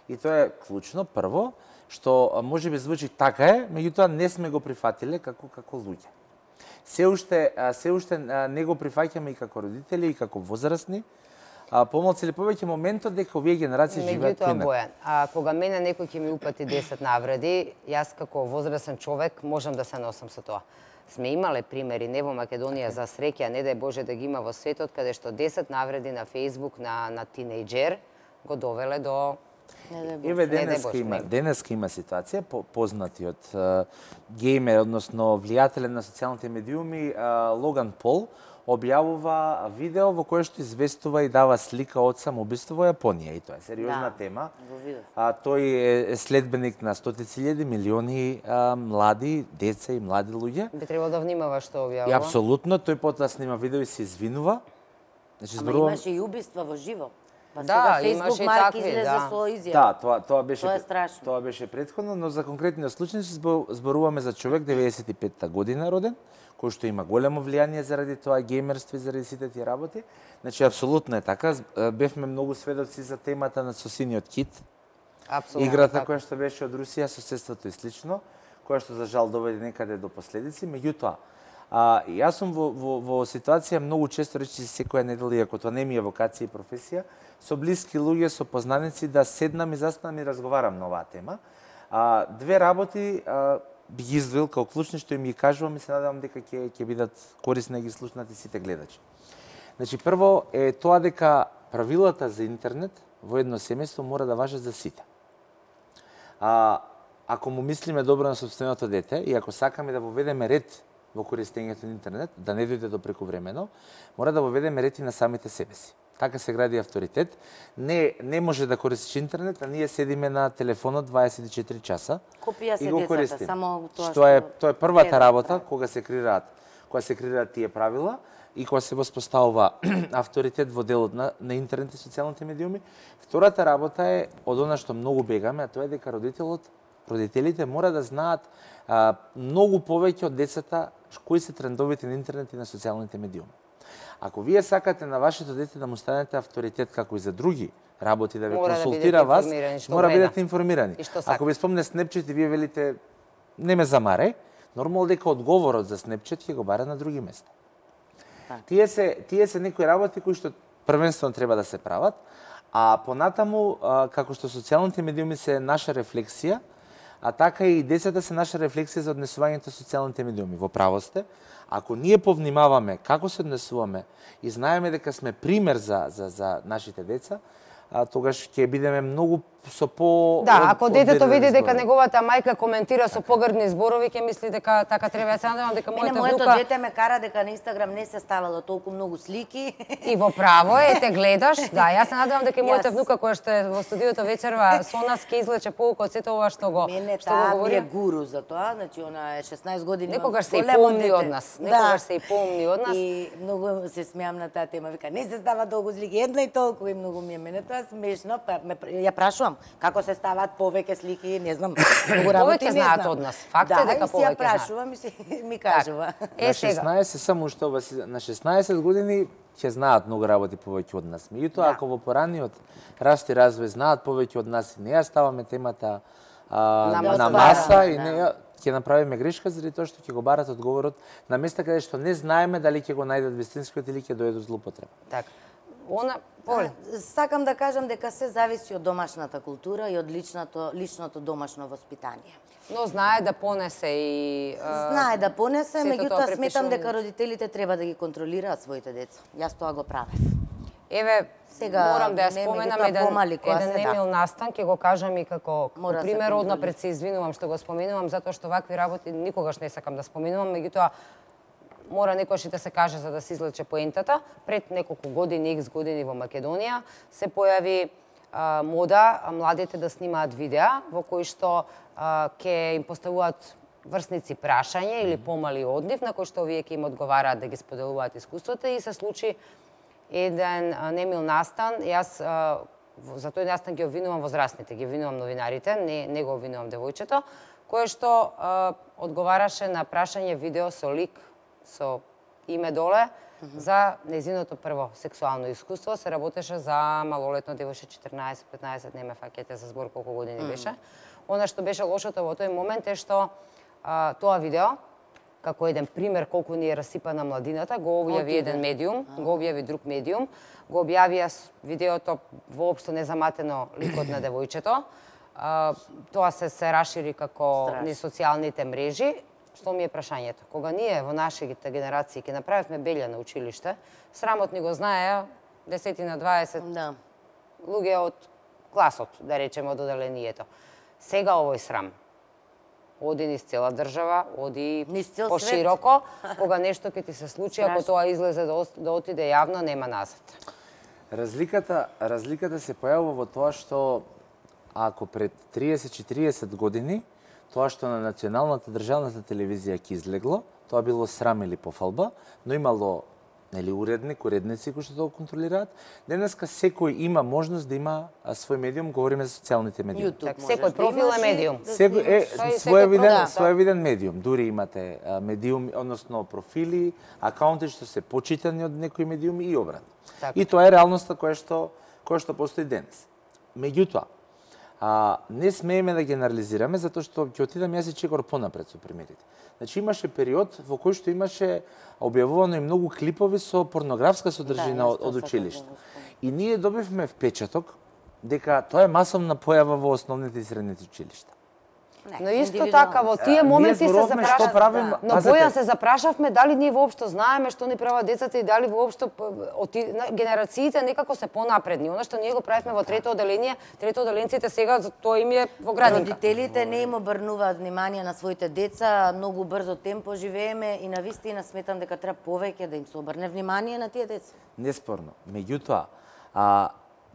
И тоа е клучно прво, што можеби звучи така е, меѓутоа не сме го прифатиле како луѓе. Се уште не го прифаќаме и како родители и како возрастни. Помалку или повеќе моментот дека овие генерации живеат поинаку. Меѓутоа, Бојан, кога мене некој ќе ми упати 10 навреди, јас како возрастен човек можам да се носам со тоа. Сме имале примери, не во Македонија за среќа, не дај Боже да ги има во светот, каде што 10 навреди на Facebook на тинејџер го довеле до... Еве денеска има ситуација, познатиот геймер, односно влијателен на социјалните медиуми, Логан Пол, објавува видео во кое што известува и дава слика од самоубиство во Јапонија. И тоа е сериозна тема. Тој е следбеник на стотици илјади, милиони млади деца и млади луѓе. Би требало да внимава што објавува. И апсолутно, тој потоа снима видео и се извинува. Значи, имаше и убиства во живо. Па да, сега Facebook Марк излезе со изјава. Да, тоа беше страшно. Тоа беше претходно, но за конкретниот случај зборуваме за човек 95-та година роден, кој што има големо влијание заради тоа геймерство и заради сите тие работи. Значи апсолутно е така. Бевме многу сведоци за темата на со синиот кит. Апсолутно. Играта која што беше од Русија, соседството и слично, која што за жал доведе некаде до последици, меѓутоа јас сум во ситуација многу често, речи секоја недела, иако тоа не ми е вокација и професија, со блиски луѓе, со познаници да седнам и застанам и разговарам на оваа тема. Две работи би ги издвоил како клучни што им ги кажувам и се надевам дека ќе бидат корисни да ги слушнат и сите гледачи. Значи прво е тоа дека правилата за интернет во едно семејство мора да важат за сите. Ако му мислиме добро на сопственото дете и ако сакаме да воведеме ред во користењето на интернет, да не дојде до прекувремено, мора да воведеме ред и на самите себе си. Така се гради авторитет. Не може да користиш интернет, а ние седиме на телефонот 24 часа и го користиме. Тоа е првата работа кога се креираат тие правила и кога се воспоставува авторитет во делот на интернет и социјалните медиуми. Втората работа е од она што многу бегаме, а тоа е дека родителите мора да знаат многу повеќе од децата кои се трендовите на интернет и на социјалните медиуми. Ако вие сакате на вашето дете да му станете авторитет како и за други работи, да ве консултира вас, мора да бидете информирани. Ако ви спомне Snapchat и вие велите не ме замаре, нормално дека одговорот за Snapchat ќе го бара на други места. Тие се некои работи кои што првенствено треба да се прават, а понатаму како што социјалните медиуми се наша рефлексија, а така и децата се наша рефлексија за однесувањето со социјалните медиуми. Во право сте, ако ние повнимаваме како се однесуваме и знаеме дека сме пример за нашите деца, тогаш ќе бидеме многу со по... Да, ако детето види дека неговата мајка коментира со погрдни зборови, ќе мисли дека така треба. Ја се надевам дека моето дете ме кара дека на Инстаграм не се ставало толку многу слики. И во право е, те гледаш. Да, јас се надевам дека и мојата внука која што е во студиото вечерва со нас ќе извлече поука од сето ова што го говори. Мене таа ми е гуру за тоа, значи она е 16 години. Некогаш се и помни од нас. Некогаш се и помни од нас. И многу се смеам на таа тема, вика не се става толку слики, една и толку, и многу ми е мене тоа смешно, па ја прашувам како се ставаат повеќе слики, не знам, многу работи не знам. Повеќе знаат од нас. Факт е дека повеќе знаат. Да, ја прашувам и ми кажува. На 16 само што на 16 години ќе знаат многу работи повеќе од нас. Меѓутоа ако во пораниот раст и развој знаат повеќе од нас и не ја ставаме темата на маса и не ќе направиме грешка заради тоа што ќе го барат одговорот на места каде што не знаеме дали ќе го најдат вистинскиот или ќе дојде до злоупотреба. Така. Сакам да кажам дека се зависи од домашната култура и од личното домашно воспитание. Но знае да понесе и... Знае да понесе, меѓутоа сметам дека родителите треба да ги контролираат своите деца. Јас тоа го правев. Еве, морам да ја споменам еден Емил Настан, ќе го кажам и како пример, однапред се извинувам што го споменувам, затоа што вакви работи никогаш не сакам да споменувам, меѓутоа мора некојаш и да се каже за да се излече поентата. Пред неколку години, X години во Македонија се појави мода младите да снимаат видеа во кои што ќе им поставуваат врсници прашање или помали од нив, на кои што овие ќе им одговараат да ги споделуваат искуството и се случи еден немил настан. Јас за тој настан ги обвинувам возрастните, ги обвинувам новинарите, не го обвинувам девојчето, кое што одговараше на прашање видео со лик, со име доле, за незиното прво сексуално искуство. Се работеше за малолетно девојче 14-15, не ме фаќате за збор колку години беше. Она што беше лошото во тој момент е што тоа видео, како еден пример колку ни е расипана младината, го објави еден медиум, го објави друг медиум, го објавија видеото воопшто незаматено ликот на девојчето. Тоа се рашири како низ социјалните мрежи. Што ми е прашањето? Кога ние во нашите генерации ќе направивме белја на училиште, срамот ни го знаеа 10 на 20 луѓе од класот, да речеме, од оделението. Сега овој срам оди низ цела држава, оди пошироко, кога нешто ќе ти се случи, ако тоа излезе да отиде јавно, нема назад. Разликата се појавува во тоа што ако пред 30-40 години тоа што на националната државната телевизија ќе излегло, тоа било срам или пофалба, но имало уредници кои што тоа контролираат. Денеска секој има можност да има свој медиум, говориме за социјалните медиуми. Секој профил е медиум. Секој е своевиден медиум. Дури имате медиуми, односно профили, акаунти што се почитани од некои медиуми и обратно. И тоа е реалноста која што постои денес. Меѓутоа, не смееме да генерализираме, затоа што ќе отидам јас и чекор понапред со примерите. Значи имаше период во кој што имаше објавувано и многу клипови со порнографска содржина од училиште. И ние добивме впечаток дека тоа е масовна појава во основните и средните училишта. Но исто така во тие моменти се запрашавме, но Бојан се запрашавме дали ние воопшто знаеме што ни прават децата и дали воопшто генерациите некако се понапредни. Она што ние го правевме во трето оделение, третооделенците сега за тоа им е во градинка. Родителите не им обрнуваат внимание на своите деца, многу брзо темпо живееме и навистина сметам дека треба повеќе да им се обрне внимание на тие деца. Неспорно. Меѓутоа,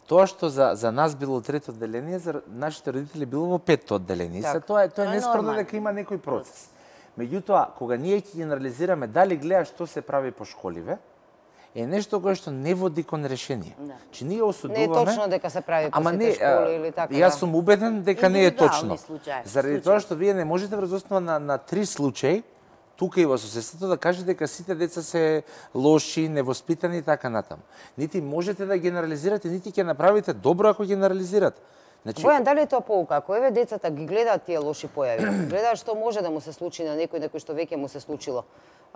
тоа што за нас било трето одделение, за нашите родители било во петто одделение. Тоа е неспорно дека има некој процес. Меѓутоа, кога ние ќе генерализираме дали гледа што се прави по школиве, е нешто кое што не води кон решение. Че ние осудуваме... Не е точно дека се прави по сите школи или така. Јас сум убеден дека не е точно. Заради тоа што вие не можете врз основа на 3 случаи тука и во соседството да кажете дека сите деца се лоши, невоспитани и така натаму. Нити можете да генерализирате, нити ќе направите добро ако генерализирате. Значи... Бојан, дали е тоа поука? Ако еве децата ги гледаат тие лоши појави, гледаат што може да му се случи на некој што веќе му се случило,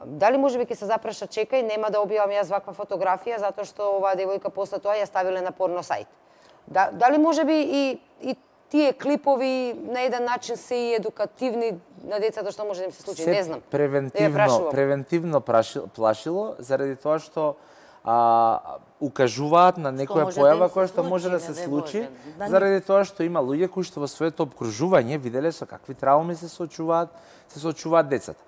дали можеби ќе се запраша, чекај, нема да објавам јас ваква фотографија затоа што оваа девојка после тоа ја ставиле на порно сајт. Дали можеби и тие клипови на еден начин се и едукативни на децата што може да им се случи, не знам. Превентивно плашило заради тоа што укажуваат на некоја појава која што може да се случи, заради тоа што има луѓе кои што во своето обкружување виделе со какви трауми се соочуваат децата.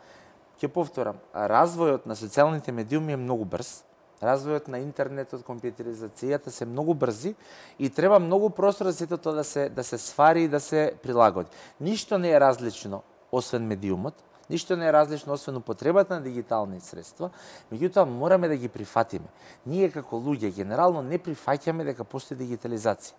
Ќе повторам, развојот на социјалните медиуми е многу брз. Развојот на интернетот, компјутеризацијата се многу брзи и треба многу простор за сето тоа да се свари и да се прилагоди. Ништо не е различно освен медиумот, ништо не е различно освен употребата на дигитални средства, меѓутоа мораме да ги прифатиме. Ние како луѓе генерално не прифаќаме дека постои дигитализација.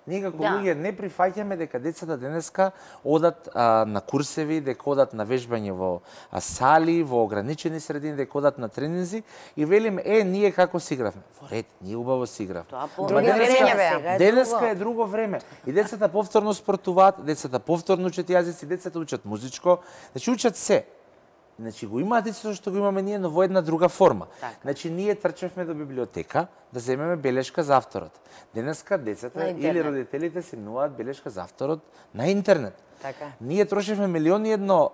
Ние како луѓе не прифаќаме дека децата денеска одат на курсеви, дека одат на вежбање во сали, во ограничени средини, дека одат на тренинзи и велиме ние како си игравме. Во ред, ние убаво си игравме. Денеска е друго време. И децата повторно спортуваат, децата повторно учат јазици, децата учат музичко, значи учат се. Значи го имаат истото што го имаме ние, но во една друга форма. Значи ние трчевме до библиотека да земеме белешка за авторот. Денеска децата или родителите си минуваат белешка за авторот на интернет. Ние трошевме милиони едно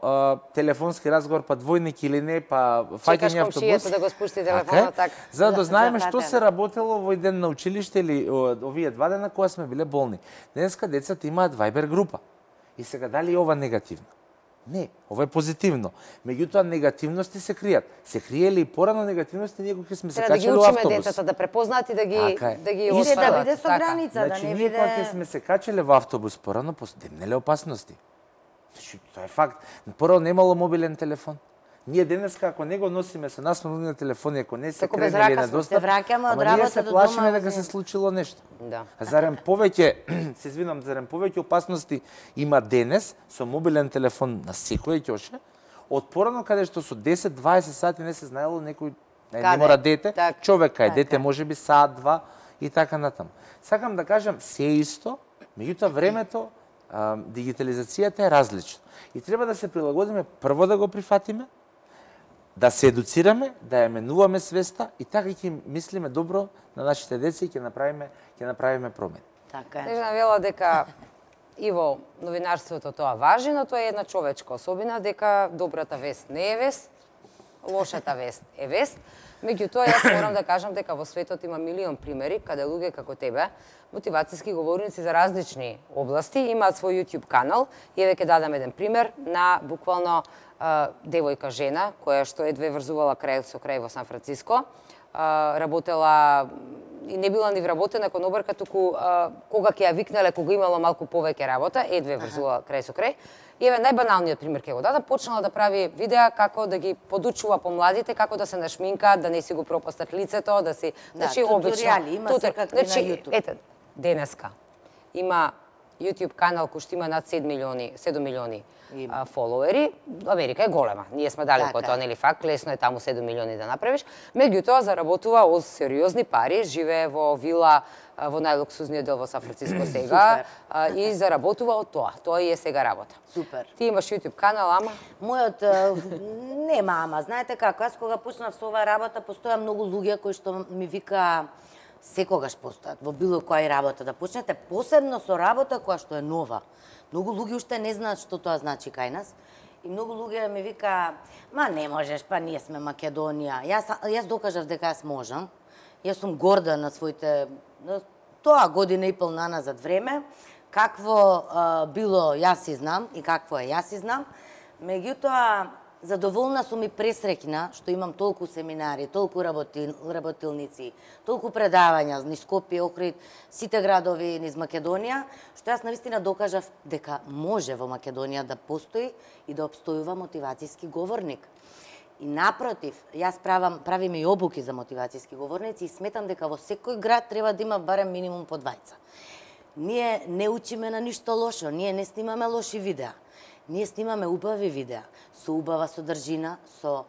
телефонски разговор, па двојник или не, па фаќање автобус. Чекаш комшијата да го спусти телефонот, така. За да знаеме што се работело во ден на училиште или овие 2 дена кога сме биле болни. Денеска децата имаат Viber група. И сега дали е ова негативно? Не, ова е позитивно. Меѓутоа негативности се кријат. Се криеле и порано негативности ние кога сме се качели во автобус. Треба да ги учиме децата да препознаат и да ги И освојат. да биде со граница, да не ние кога биде... сме се качеле во автобус порано, демнеле опасности. Значи, тоа е факт. Порано немало мобилен телефон. Ние денеска, ако не го носиме со нас мобилни телефони, ако не се кренели на достап, се враќаме од ние работа се до плашиме дома. дека се случило нешто. Да. А зарем повеќе, се извинам, зарем повеќе опасности има денес со мобилен телефон на секој ќоше, од порано каде што со 10-20 сати не се знаело некој, не мора дете, човек кај дете можеби саат, два и така натаму. Сакам да кажам се исто, меѓутоа времето, дигитализацијата е различно. И треба да се прилагодиме, прво да го прифатиме, да се едуцираме, да ја менуваме свеста и така ќе мислиме добро на нашите деца и ќе направиме промени. Така е. Снежана вела дека и во новинарството тоа важи, но тоа е една човечка особина, дека добрата вест не е вест, лошата вест е вест. Меѓутоа, јас морам да кажам дека во светот има милион примери каде луѓе како тебе, мотивацијски говорници за различни области, имаат свој YouTube канал. И еве ќе дадам еден пример на буквално девојка жена која што едве врзувала крај со крај во Сан Франциско, работела и не била ни вработена кон обрка, туку кога ќе ја викнале, кога имала малку повеќе работа, едве врзувала крај со крај. И еве најбаналниот пример ќе го дадам, почнала да прави видеа како да ги подучува помладите како да се нашминкаат, да не си го пропастат лицето, да си, значи туторијали има секакви на YouTube. Ете, денеска има YouTube канал кој што има над 7 милиони фолоуери. Америка е голема. Ние сме далеко од тоа, нели факт, лесно е таму 7 милиони да направиш. Меѓутоа заработува од сериозни пари, живее во вила во најлуксузниот дел во Сан Франциско сега и заработува од тоа. Тоа и е сега работа. Супер. Ти имаш YouTube канал, ама? Мојот нема ама. Знаете како, аз кога почнав со оваа работа, постоја многу луѓе кои што ми вика секогаш постојат во било која работа да почнете, посебно со работа која што е нова. Многу луѓе уште не знаат што тоа значи кај нас. И многу луѓе ми вика, ма не можеш, па ние сме Македонија. Јас докажав дека јас можам. Јас сум горда на своите тоа година и пол наназад време. Какво било јас си знам и какво е јас си знам. Меѓутоа, задоволна сум и пресреќна што имам толку семинари, толку работилници, толку предавања низ Скопје, Охрид, сите градови низ Македонија, што јас навистина докажав дека може во Македонија да постои и да обстојува мотивацијски говорник. И напротив, јас правим и обуки за мотивацијски говорници и сметам дека во секој град треба да има барем минимум по двајца. Ние не учиме на ништо лошо, ние не снимаме лоши видеа. Ние снимаме убави видеа, со убава содржина, со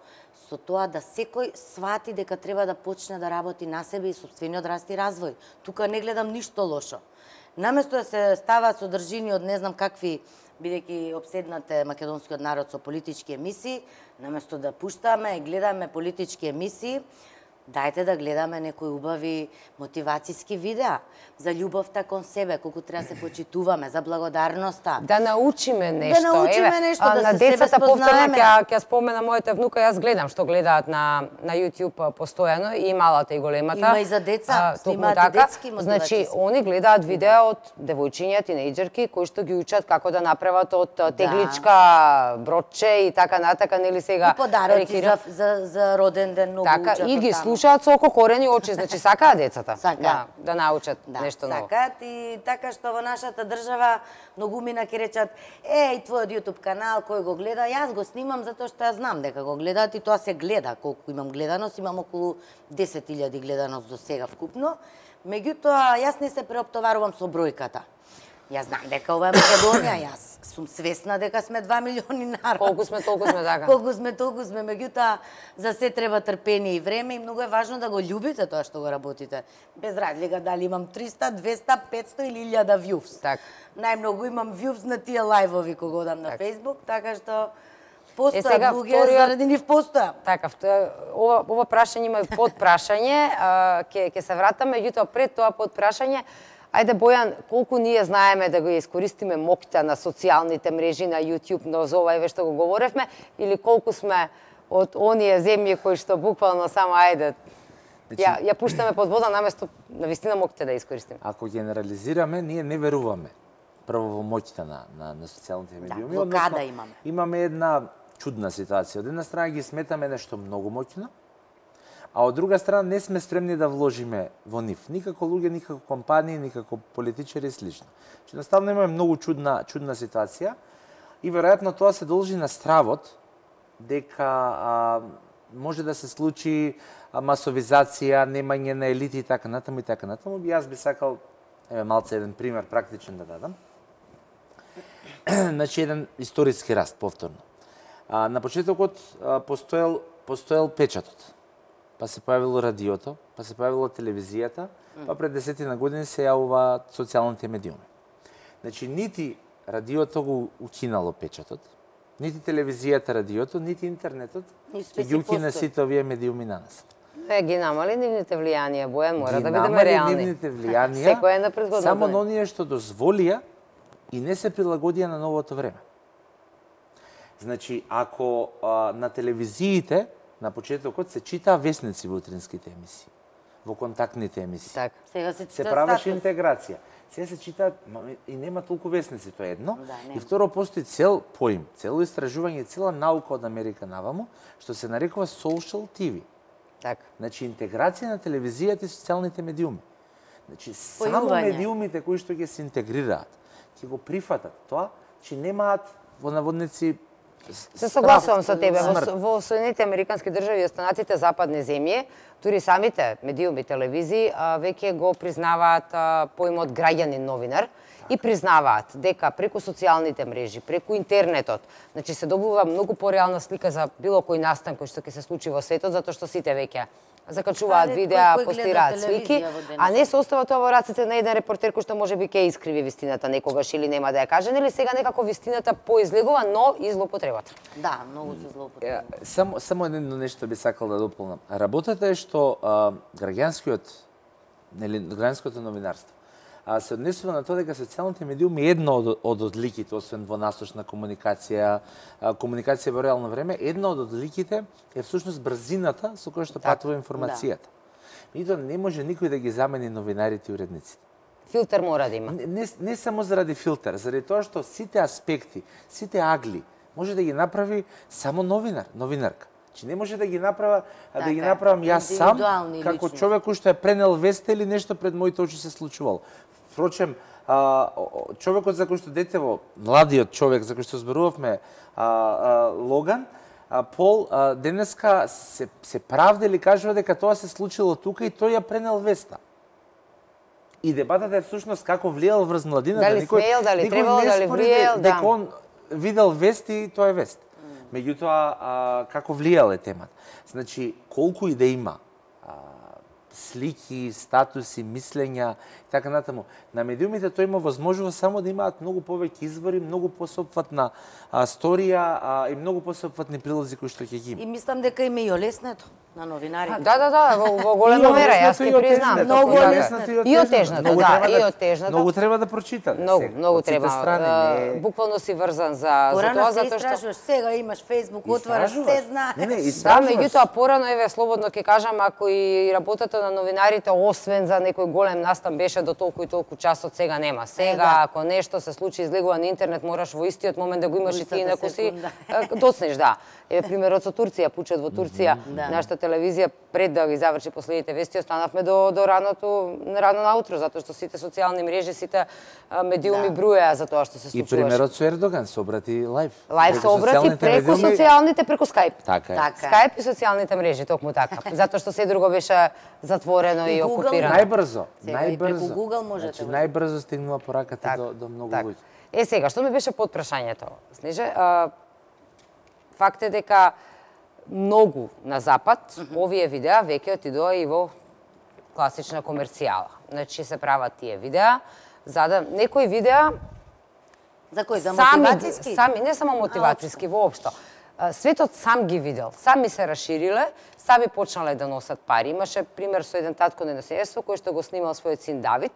тоа да секој свати дека треба да почне да работи на себе и сопствениот раст и развој. Тука не гледам ништо лошо. Наместо да се ставаат содржини од не знам какви, бидејќи обседнате македонскиот народ со политички емисии, наместо да пуштаме и гледаме политички емисии, дајте да гледаме некои убави мотивацијски видеа за љубовта кон себе, колку треба да се почитуваме, за благодарноста. Да научиме нешто. Да научиме нешто, да на се себе децата спознаеме. Ќе спомена мојата внука, јас гледам што гледаат на YouTube постојано, и малата и големата. Има и за деца, снимаат и детски мотивацијски. Значи, они гледаат видеа од девојчиња, тинејџерки, кои што ги учат како да направат од тегличка, бродче и така натака, нели сега. И подароци за роден ден многу учат. Така, и ги слушаат со око, корени, очи, значи сакаат децата. Да научат нешто ново. Сакаат и така што во нашата држава многумина ќе речат, и твојот YouTube канал кој го гледа, јас го снимам затоа што јас знам дека го гледаат и тоа се гледа. Колку имам гледаност, имам околу 10.000 гледаност до сега вкупно. Меѓутоа, јас не се преоптоварувам со бројката. Јас знам дека ова е Македонија, јас сум свесна дека сме 2 милиони народ. Колку сме, толку сме, така. Колку сме, толку сме, меѓутоа за се треба трпение и време и многу е важно да го љубите тоа што го работите. Без разлика дали имам 300, 200, 500 или 1000 views. Така. Најмногу имам views на тие лајвови кога одам на Facebook, така што постојат сега луѓе заради нив постоја. Така, ова прашање има и подпрашање, ќе се вратаме, меѓутоа пред тоа подпрашање, ајде Бојан, колку ние знаеме да го искористиме моќта на социјалните мрежи, на YouTube, но за ова еве што го говоревме, или колку сме од оние земји кои што буквално само ајде ја пуштаме под вода наместо навистина моќте да искористиме. Ако генерализираме, ние не веруваме прво во моќта на социјалните медиуми. блокада имаме. Имаме една чудна ситуација. Од една страна ги сметаме нешто многу моќно, а од друга страна не сме спремни да вложиме во нив. Никако луѓе, никако компании, никако политичари и слично. Едноставно имаме многу чудна ситуација и веројатно тоа се должи на стравот дека може да се случи масовизација, немање на елити и така натаму и така натаму. Јас би сакал малце еден пример практичен да дадам. Значи еден историски раст повторно. На почетокот постоел печатот. Па се појавило радиото, па се појавила телевизијата, па пред 10 години се јавуваат социјалните медиуми. Значи нити радиото го укинало печатот, нити телевизијата радиото, нити интернетот ги укина сите овие медиуми на нас. Ги намали нивните влијанија, Бојан, мора да бидеме намали реални. нивните влијанија, Секој е на предходното. само на оние што дозволија и не се прилагодија на новото време. Значи, ако на телевизиите на почетокот се читаа весници во утринските емисии, во контактните емисии. Так. Сега Се правеше интеграција. Сега се читаат и нема толку весници, тоа е едно. И второ, постои цел поим, цело истражување, цела наука од Америка наваму, што се нарекува social TV. Так. Значи, интеграција на телевизијата и социјалните медиуми. Значи, само медиумите кои што ќе се интегрираат, ќе го прифатат тоа, че немаат во наводници Се согласувам со тебе. Во Соединетите Американски држави и останатите западни земји, дури самите медиуми, телевизии, веќе го признаваат поимот граѓанин новинар и признаваат дека преку социјалните мрежи, преку интернетот, значи се добива многу пореална слика за било кој настан кој што ќе се случи во светот, затоа што сите веќе закачуваат видеа, постираат слики, а не се остава тоа во рацете на еден репортер кој што можеби ќе искриви вистината некогаш или нема да ја каже, нели сега некако вистината поизлегува, но и злоупотребата. Да, многу се злоупотреба. Само едно нешто би сакал да дополнам. Работата е што граѓанското новинарство се однесува на тоа дека социјалните медиуми е едно од одликите, освен во насочна комуникација, комуникација во реално време, една од одликите е всушност брзината со која што патува информацијата. Меѓутоа не може никој да ги замени новинарите и уредниците. Филтер мора да има. Не само заради филтер, заради тоа што сите аспекти, сите агли може да ги направи само новинарка. Че не може да ги направам јас сам како човек кој што е пренел веста или нешто пред моите очи се случувало. Впрочем, човекот за кој што детево, младиот човек за кој што зборувавме, Логан, Пол, денеска се правда или кажува дека тоа се случило тука и тој ја пренел веста. И дебатата е всушност како влијал врз младината. Дали смеел, дали требало, дали влијал, дека он видел вест и тоа е вест. Меѓутоа, како влијал е темата. Значи, колку и да има слики, статуси, мислења и така натаму. На медиумите тој има возможност само да имаат многу повеќе извори, многу посеопфатна сторија и многу посеопфатни прилози кои што ќе ги има. И мислам дека има и олеснето на новинарите. Да, во голема мера, јас ќе признам. Многу олеснето и отежнато, да, и отежнато. Многу треба да прочитате. Многу треба. Буквално си врзан за тоа, затоа што сега имаш Facebook, отвараш, се знаеш. Да, меѓутоа порано, еве, слободно ќе кажам, ако и работата на новинарите, освен за некој голем настан, беше до толку и толку часот, сега нема. Сега, ако нешто се случи, излегува на интернет, мораш во истиот момент да го имаш и ти неко си доцнеш, да. Еве, примерот со Турција, пучет во Турција, нашата телевизија пред да ги заврши последните вести, останавме до рано наутро, затоа што сите социјални мрежи, сите медиуми бруеа за тоа што се случуваше. И примерот со Ердоган се обрати лайв. Лайв се обрати преку социјалните, преку Skype. Така е. Skype и социјалните мрежи, токму така. Затоа што се друго беше затворено и окупирано. Најбрзо. Преку Google можете. Значи, најбрзо стигнува пораката до многу луѓе. Сега, што ми беше подпрашањето, Снеже? Факт е дека многу на запад овие видеа веќе отидоа и во класична комерцијала. Значи се прават тие видеа, за да некои видеа за кој, за мотивацијски? Сами, не само мотивацијски, воопшто. Светот сам ги видел, сами се расшириле, сами почнале да носат пари. Имаше пример со еден татко на населство кој што го снимал својот син Давид,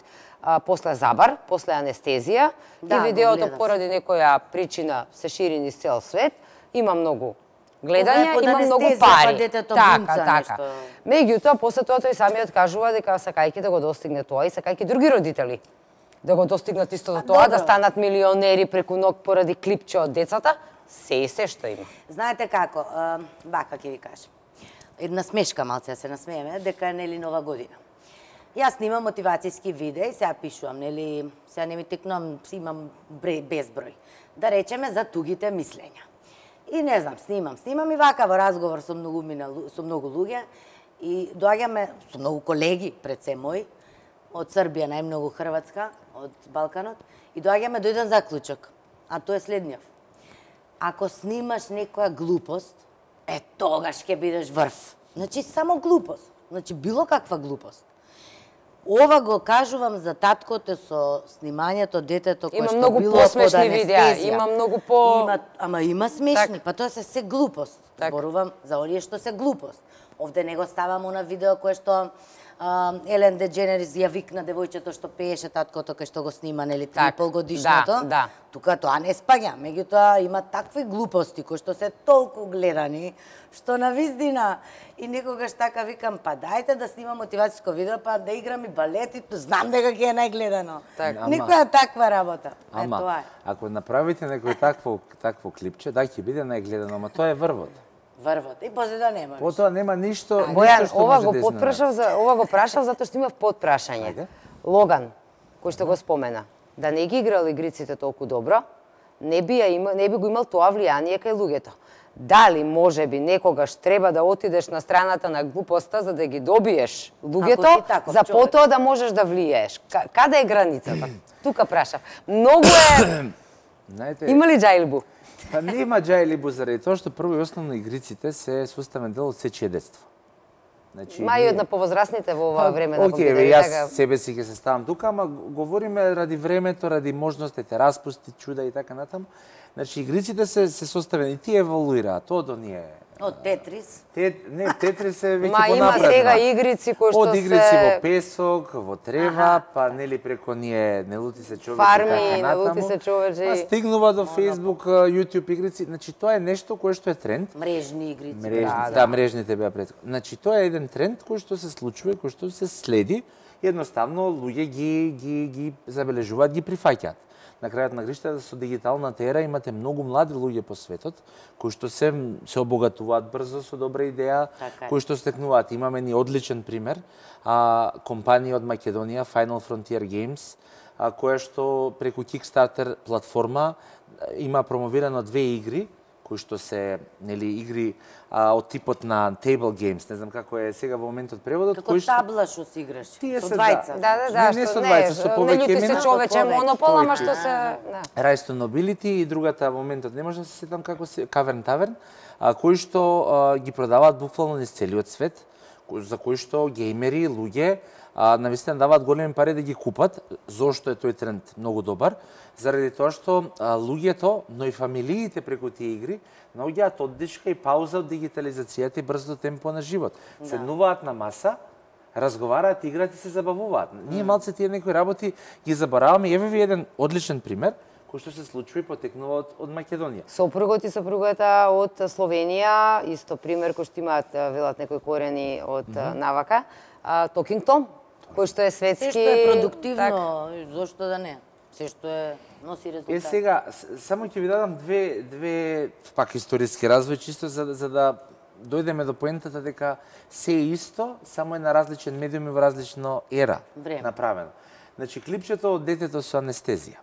после забар, после анестезија, и видеото поради некоја причина се шири низ цел свет. Има многу гледања, има многу пари. Така. Меѓутоа, после тоа тој самиот кажува дека сакајќи да го достигне тоа и сакајќи други родители да го достигнат истото тоа, да станат милионери преку ног поради клипче од децата, се што има. Знаете како, вака ќе ви кажам. Една смешка малце, се насмееме, дека е нели нова година. Јас снимам мотивацијски видеа и сега пишувам, нели, сега не ми текнувам, имам безброј. Да речеме за тугите мислења. И не знам, снимам и вака во разговор со многу луѓе и доаѓаме со многу колеги, пред се мои, од Србија, најмногу Хрватска, од Балканот, и доаѓаме до еден заклучок, а тоа е следниот. Ако снимаш некоја глупост, тогаш ќе бидеш врв. Значи, само глупост. Значи, било каква глупост. Ова го кажувам за таткото со снимањето, детето кое што било под анестезија. Има многу посмешни видеа, има многу по... Ама има смешни, па тоа се глупост. Зборувам за оние што се глупост. Овде не го ставам на видео кое што Елен Дедженерис ја викна девојчето што пееше таткото кај што го снима, нели, 3,5 годишното. Тука тоа не спаѓа, меѓутоа има такви глупости кои што се толку гледани, што на виздина и некогаш така викам, па дајте да снимам мотивацијско видео, па да играм и балет и знам дека ќе е најгледано. Некоја таква работа. Ама, ако направите некој такво клипче, да ќе биде најгледано, ама тоа е врвот. И после да нема. Потоа нема ништо. Бојан, ова го прашав затоа што имав подпрашање. Логан, кој што го спомена, да не ги играл игриците толку добро, не би го имал тоа влијание кај луѓето. Дали можеби некогаш треба да отидеш на страната на глупоста за да ги добиеш луѓето, за потоа да можеш да влијаеш? Каде е границата? Тука прашав. Многу е... Има ли џајлбу? Па нема џајлибу заради тоа што прво и основно игриците се составен дел од сечие детство. Значи, мај од на повозрасните во ова време на компјутери. Јас себе си ќе се ставам тука, ама говориме ради времето, ради можностите, распусти, чуда и така натаму. Значи игриците се составени и тие еволуираат од оние од Тетрис. Тетрис е веќе понапред. Има сега игрици кои што се... Од игрици во песок, во трева, па нели преко ние не лути се човечи фарми, не лути се човечи. Па стигнува до Facebook, YouTube игрици. Значи тоа е нешто кое што е тренд. Мрежни игрици. Да, мрежните беа пред. Значи тоа е еден тренд кој што се случува, кој што се следи. Едноставно луѓе ги забележуваат, ги прифаќаат. На крајот на гришта, со дигиталната ера имате многу млади луѓе по светот кои што се обогатуваат брзо со добра идеја, кои што стекнуваат. Имаме ни одличен пример, компанија од Македонија, Final Frontier Games, која што преку Kickstarter платформа има промовирано 2 игри кои што се игри од типот на table games, не знам како е сега во моментот преводот, како табла што си играш со двајца. Не со двајца, со повеќе имена. Не се човече монопол, ама што се Rise to Nobility и другата во моментот не можам да се сетам како се Cavern Tavern, кои што ги продаваат буквално низ целиот свет, за кои што геймери, луѓе навистина даваат големи пари да ги купат. Зошто е тој тренд многу добар? Заради тоа што луѓето, но и фамилиите преку тие игри наоѓаат оддишка и пауза од дигитализацијата и брзо темпо на живот. Седнуваат на маса, разговараат, играат и се забавуваат. Ние малце тие некои работи ги забораваме. Еве ви еден одличен пример кој што се случува и потекнува од Македонија. Сопругот и сопругата од Словенија, исто пример кој што имаат велат некои корени од навака, Talking Tom, кој што е светски... Се што е продуктивно, зошто да не? Се што е носи резултат. Сега, само ќе ви дадам две пак историски развој, чисто за да дојдеме до поентата дека се е исто, само е на различен медиум и во различна ера направено. Значи, клипчето од детето со анестезија.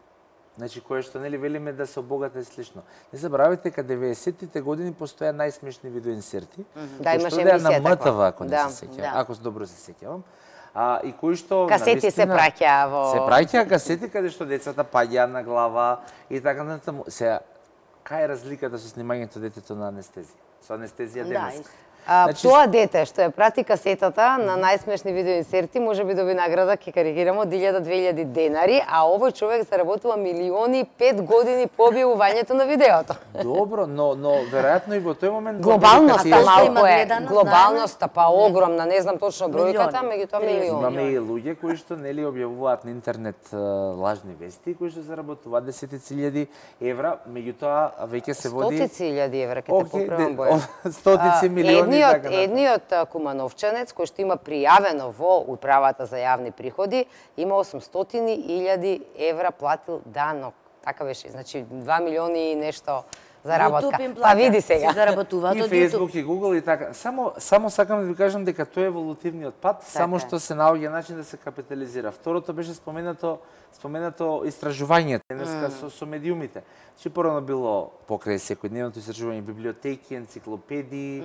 Значи, кое што нели велиме да се обогата и слично. Не забравяйте дека 90-тите години постоја најсмешни видеоинсерти. Да, имаше емисија на МТВ, ако не се сеќавам, ако добро се сеќавам. И кои што касети се праќаа во... Се праќаа касети каде што децата паѓаа на глава и така натаму. Сега, кај е разликата со снимањето детето на анестезија? Со анестезија денес. Тоа дете што ја прати касетата на најсмешни видеоинсерти може би доби награда, ќе карикираме, од 1000-2000 денари, а овој човек заработува милиони 5 години по објавувањето на видеото. Добро, но веројатно и во тој момент глобалноста малку е, глобалноста па огромна, не знам точно бројката, меѓутоа милиони. Имаме и луѓе кои што нели објавуваат на интернет лажни вести, кои што заработуваат десетици илјади евра, меѓутоа веќе се води стотици илјади евра, ќе те поправам, Бојан. Стотици милиони едниот кумановчанец кој што има пријавено во управата за јавни приходи, има 800.000 евра платил данок. Така беше, значи 2 милиони и нешто заработка. Па види сега. Заработуваат од Facebook и Google и така. Само сакам да ви кажам дека тоа е еволутивниот пат, само што се наоѓа начин да се капитализира. Второто беше споменато истражувањето денеска со медиумите. Значи порано било покрај секојдневното истражување библиотеки, енциклопедии,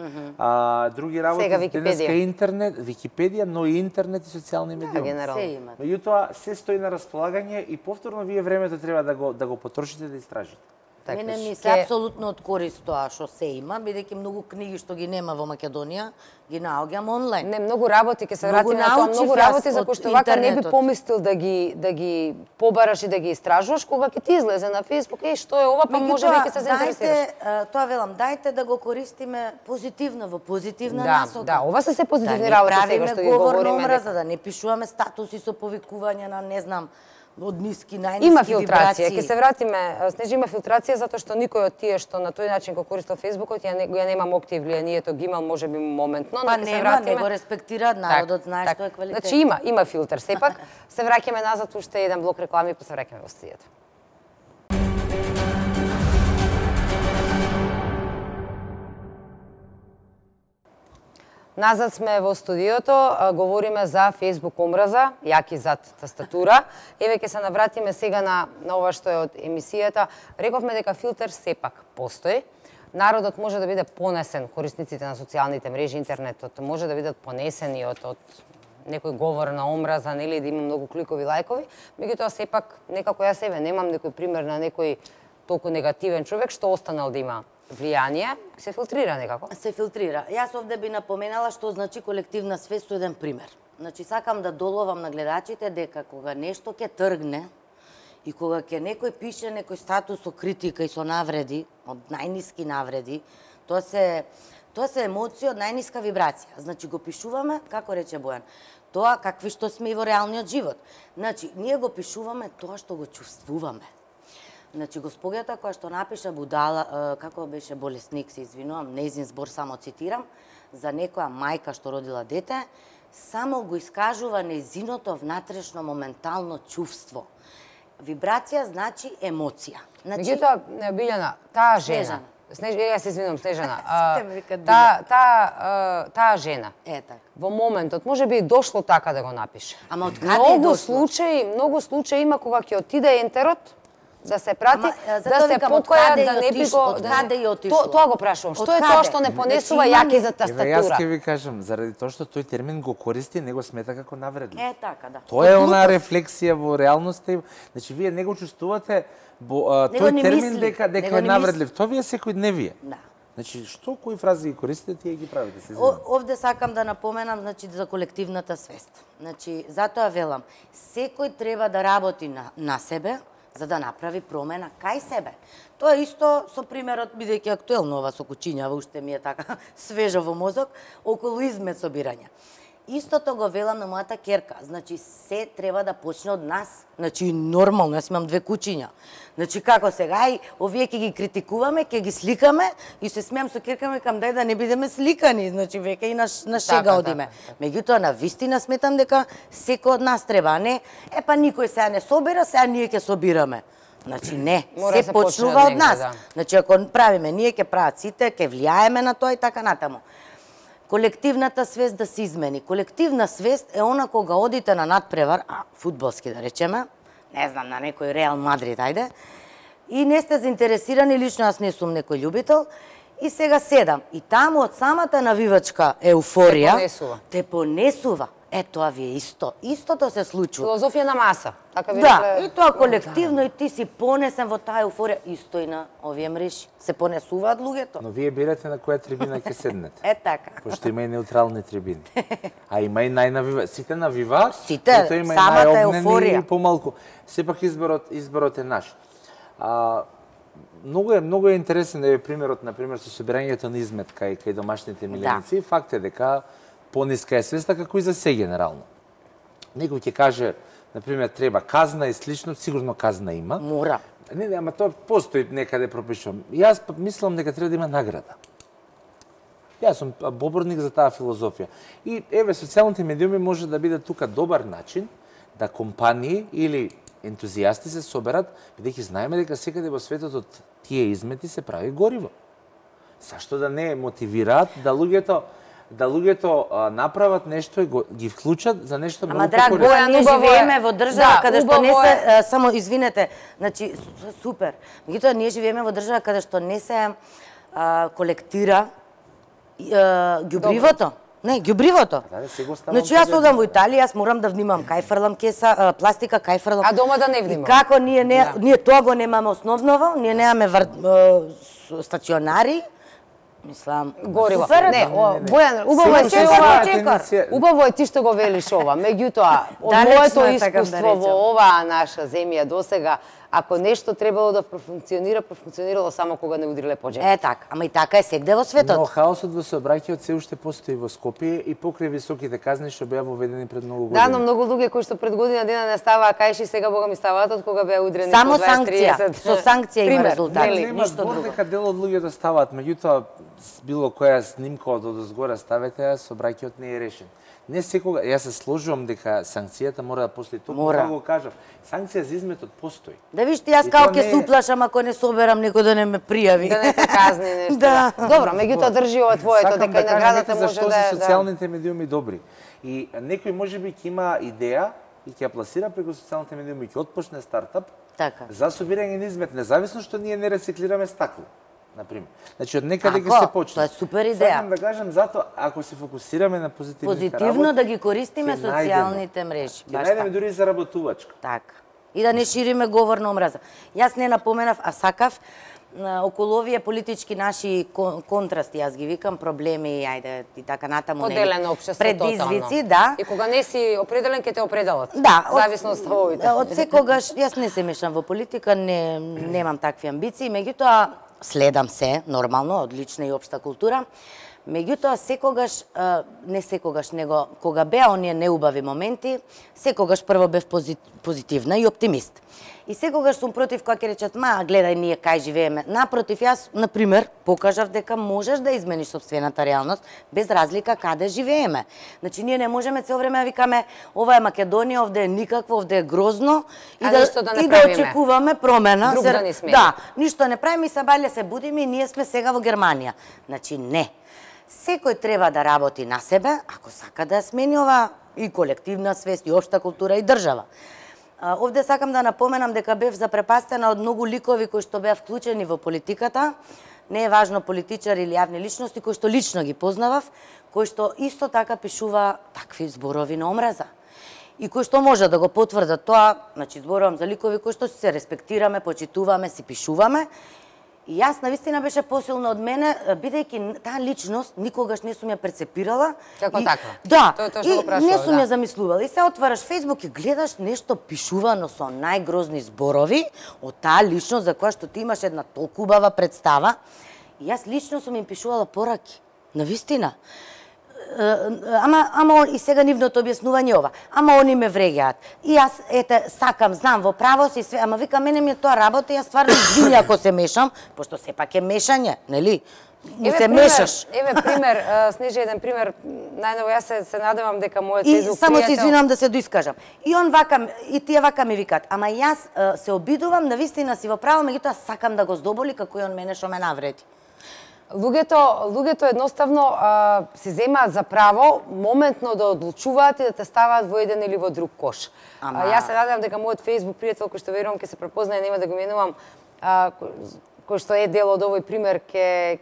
други работи, денеска интернет, Википедија, но и интернет и социјални медиуми. Меѓутоа се стои на располагање и повторно вие времето треба да го потрошите да истражите. Мене ми се апсолутно од корист тоа што се има, бидејќи многу книги што ги нема во Македонија, ги наоѓам онлайн. Не, многу работи, ќе се вратиме на тоа, многу работи за кои што вака не би помислил да ги побараш и да ги истражуваш, кога ќе ти излезе на Facebook, што е ова, па може би ќе се заинтересираш. Тоа велам, дајте да го користиме позитивно, во позитивна насока. Да, ова се позитивни работи сега што ги говориме. Да не пишуваме статуси со повикување на, не знам, од ниски, најниски има филтрација, ќе се вратиме, Снежи, има филтрација затоа што никој од тие што на тој начин го користел Фејсбукот, ја немам актив влијанието ги имал можеби моментно, но ќе се вратиме. Не го респектираат, народот знае што е квалитет. Значи има филтер сепак. Се враќаме назад уште еден блок реклами, па се враќаме во студиото. Назад сме во студиото, говориме за Facebook омраза, јаки зад тастатура. Еве ќе се навратиме сега на ова што е од емисијата. Рековме дека филтер сепак постои. Народот може да биде понесен, корисниците на социјалните мрежи, интернетот може да бидат понесени од некој говор на омраза, нели, да има многу кликови, лајкови. Меѓутоа сепак некако ја себе немам некој пример на некој толку негативен човек што останал да има влијание, се филтрира некако? Се филтрира. Јас овде би напоменала што значи колективна свест со еден пример. Значи, сакам да доловам на гледачите дека кога нешто ќе тргне и кога ќе некој пише некој статус со критика и со навреди, од најниски навреди, тоа се емоции од најниска вибрација. Значи, го пишуваме, како рече Бојан, тоа какви што сме и во реалниот живот. Значи, ние го пишуваме тоа што го чувствуваме. Значи, господјата која што напиша будала, како беше болесник, се извинувам, нејзин збор само цитирам, за некоја мајка што родила дете, само го искажува нејзиното внатрешно моментално чувство. Вибрација значи емоција. Меѓутоа, Билјана, таа жена, ја се извинувам, Снежана, таа жена, во моментот, може би дошло така да го напише. Ама од каде е дошло? Многу случаи има кога ќе отиде ентерот, да се прати, да се покоја, да не би го... Од каде ја отишло? Тоа го прашувам. Што е тоа што не понесува јаки за тастатура? Јас ќе ви кажам, заради тоа што тој термин го користи, не го смета како навредлив. Така, да. Тоа е она рефлексија во реалноста. Значи, вие не го чувствувате тој термин дека е навредлив. Тоа вие секојдневие. Да. Значи, што кои фрази ги користите, тие ги правите? Овде сакам да напоменам, значи, за колективната свест. Значи, затоа велам, секој треба да работи на себе, за да направи промена кај себе. Тоа е исто со примерот, бидејќи актуелно ова со кучињава, уште ми е така свежо во мозок, околу измет собирање. Истото го велам на мојата керка. Значи, се треба да почне од нас. Значи, нормално, јас имам 2 кучиња. Значи, како сега, и овие ќе ги критикуваме, ќе ги сликаме, и се смеам со керка, ми кам дај да не бидеме сликани. Значи, веќе и на шега одиме. Меѓутоа, на вистина сметам дека секој од нас треба, а не, па никој сега не собира, сега ние ќе собираме. Значи, не, се почнува од нас. Значи, ако правиме, ние ќе прават сите, ќе влијаеме на тоа и така натаму. Колективната свест да се измени. Колективна свест е она кога одите на надпревар, фудбалски да речеме, не знам, на некој Реал Мадрид, ајде, и не сте заинтересирани, лично јас не сум некој љубител, и сега седам. И таму од самата навивачка еуфорија те понесува. Тоа ви е исто. Истото се случува. Филозофија на маса. Така ви да, и тоа колективно, и ти си понесен во таа еуфорија. Исто и на овие мрежи. Се понесуваат луѓето. Но вие бирате на која трибина ќе седнете. Така. Пошто има и неутрални трибини. А има и најнавива. Сите навиваат, сите, самата еуфорија. И помалку. Сепак изборот е наш. Многу е интересен да е примерот, например, со собирањето на измет кај домашните миленици. Да. Факт е дека пониска е свеста, како и за се генерално. Некој ќе каже, например, треба казна и слично, сигурно казна има. Мора. Не, ама тоа постои некаде пропишувам. Јас мислам дека треба да има награда. Јас сум поборник за таа филозофија. И еве социјалните медиуми може да биде тука добар начин да компании или ентузијасти се соберат, бидејќи знаеме дека секаде во светот од тие измети се прави гориво. Зашто да не мотивираат да луѓето направат нешто и ги вклучат за нешто многу драг поkoрисно. Боја, ние живееме во држава каде што не се само извинете, значи супер. Меѓутоа ние живееме во држава каде што не се колектира ѓубривото. Не, ѓубривото. Значи јас одам во Италија, јас морам да внимам кај фрлам кеса, пластика, кај фрлам. А дома да не внимам. И како ние тоа го немаме основново, ние немаме стационари. Мислам, гориво. Не, Бојан, убаво е ти што го велиш ова. Меѓутоа, од моето искуство во оваа наша земја досега, ако нешто требало да профункционирало само кога не удриле по джебот. Така, ама и така е сегде во светот. Но хаосот во сообраќајот се уште постои во Скопје и покрај високите казни што беа воведени пред многу години. Да, но многу луѓе кои што пред година дена не ставаа кајши, сега бога ми ставаат од кога беа удрени само по 20-30. Со санкција има резултати, ништо друго. Дека дел од луѓето ставаат, меѓутоа било која снимка од одозгора ставете, сообраќајот не е решен. Не секога, јас се сложувам дека санкцијата мора да постои. Токму како го кажам, санкција за изметот постои. Да виж ти, јас како ќе се уплашам ако не соберам некој да не ме пријави. Да не те казни нешто. Да. Добро, меѓутоа држи ова твоето, дека и наградата може да... Зашто се социјалните медиуми добри. И некој можеби ќе има идеја и ќе ја пласира преку социјалните медиуми, ќе отпочне стартап за собирање на измет, независно што ние не рециклираме стакло. Например. Значи, од некаде ќе се почне. Тоа е супер идеја. Сакам да кажам, затоа, ако се фокусираме на позитивно да ги користиме социјалните мрежи. Ќе најдеме дури и заработувачка. Така. И да не шириме говор на омраза. Јас не напоменав, а сакав, околу овие политички наши контрасти, јас ги викам, проблеми, ајде, и така натаму. Поделено општество, предизвици, да. И кога не си определен, ќе те определат. Да. Зависно од ставовите. Од секогаш, јас не се мешам во политика, немам такви амбиции, меѓутоа, следам се, нормално, од лична и општа култура. Меѓутоа, секогаш, не секогаш, него кога беа оние неубави моменти, секогаш прво бев позитивна и оптимист. И секогаш сум против кога ќе речат, гледај ние кај живееме. Напротив, јас, например, покажав дека можеш да измениш собствената реалност без разлика каде живееме. Значи, ние не можеме цело време да викаме, ова е Македонија, овде е никакво, овде е грозно и да очекуваме промена. Друг да не смени. Да, ништо не правиме и сабале се будиме и ние сме сега во Германија. Значи, не. Секој треба да работи на себе, ако сака да смени ова и колективна свест, и општа култура, и држава. Овде сакам да напоменам дека бев запрепастена од многу ликови кои што беа вклучени во политиката. Не е важно политичари или јавни личности, кои што лично ги познавав, кои што исто така пишува такви зборови на омраза. И кои што може да го потврдат тоа, значи зборувам за ликови кои што се респектираме, почитуваме, си пишуваме. И јас навистина беше посилно од мене, бидејќи таа личност никогаш не сум ја перцепирала. Како таква? Да, тоа што го и не сум ја замислувала. И се отвараш Фејсбук и гледаш нешто пишувано со најгрозни зборови од таа личност за која што ти имаш една толку убава представа. И јас лично сум им пишувала пораки. Навистина. Ама и сега нивното објаснување ова. Ама они ме вреѓаат. И јас сакам, знам во право си све, ама вика мене ми е тоа работа, јас стварно извини ако се мешам, пошто сепак е мешање, нели? Се мешаш. Еве пример, Снежи, еден пример, најново јас се надевам дека мојот Фејсбук само се извинувам да се доискажам. И он вака, и тие вака ми викаат, ама јас се обидувам, навистина си во право, меѓутоа сакам да го здоболи како и он мене што ме навреди. Луѓето едноставно се земаат за право моментно да одлучуваат и да те ставаат во еден или во друг кош. Јас се надевам дека мојот Фејсбук пријател, кој што верувам ќе се препознае, нема да го именувам, кој што е дел од овој пример,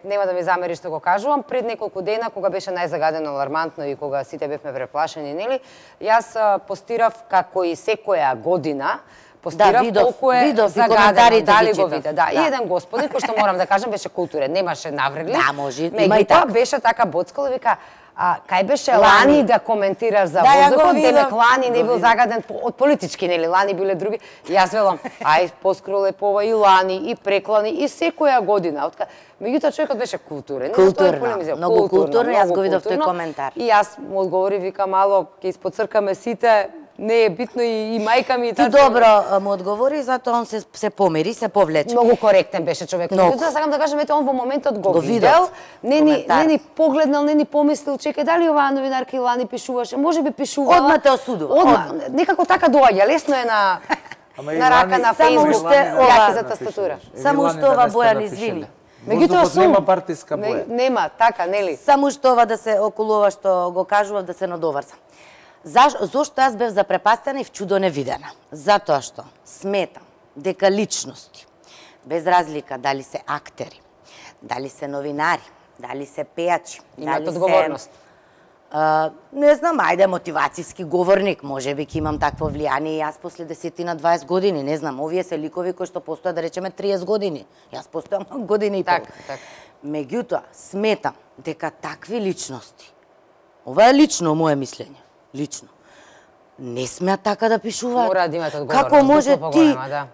нема да ми замери што го кажувам, пред неколку дена, кога беше најзагадено, алармантно и кога сите бевме преплашени, нели, јас постирав како и секоја година, постирав колку е загадено, дали го виде. Да, и еден господин, кој што морам да кажам, беше културен, немаше навредлив. Да, може, има и така. Беше така боцкал и вика, кај беше Лани да коментираш за воздухот, демек Лани не бил загаден од политички, нели, Лани биле други. И јас велам, поскоро лепова и Лани, и преклани, и секоја година. Меѓутоа човекот беше културен. Културно, многу културно, јас го видов тој коментар. И јас му одговори, вика, мало, ќе испоцркаме сите, не е битно и мајка ми и Ти добро му одговори, затоа он се помери, се повлече. Многу коректен беше човек. Меѓутоа сакам да кажам, ете он во моментот го видел, не ни погледнал, не ни помислил, чекај дали оваа новинарка Илани пишуваше, можеби пишувала. Одма те осудува. Некако така доаѓа, лесно е на рака на Facebook, јаки за тастатура. Само што ова Бојан извини. Меѓутоа нема партиска боја. Нема, така, нели? Само што ова да се околу ова што го кажував да се надоврзам. Зошто јас бев запрепастена и вчудо невидена? Затоа што сметам дека личности, без разлика дали се актери, дали се новинари, дали се пејачи, имаат одговорност. Не знам, ајде мотивацијски говорник, можеби ќе имам такво влијание и јас после 10 на 20 години, не знам, овие се ликови кои што постојат да речеме 30 години. Јас постојам години и пол. Меѓутоа, сметам дека такви личности, ова е лично мое мислење, лично, не смеат така да пишуваат. Мора да имат одговорност. Како може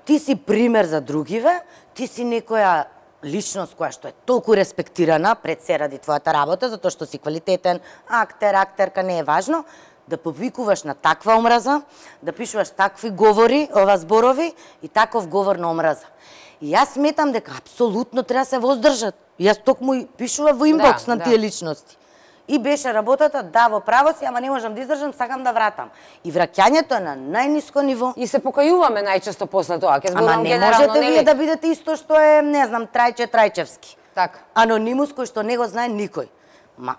ти си пример за другиве, ти си некоја личност која што е толку респектирана пред се ради твојата работа, затоа што си квалитетен актер, актерка, не е важно, да повикуваш на таква омраза, да пишуваш такви говори, зборови и таков говор на омраза. И јас сметам дека апсолутно треба да се воздржат. Јас токму пишува во инбокс на тие личности. И беше работата, да, во право си, ама не можам да издржам, сакам да вратам. И враќањето е на најниско ниво. И се покајуваме најчесто после тоа. Ама не можете вие да бидете исто што е, не знам, Трајче Трајчевски. Така. Анонимус кој што не го знае никој.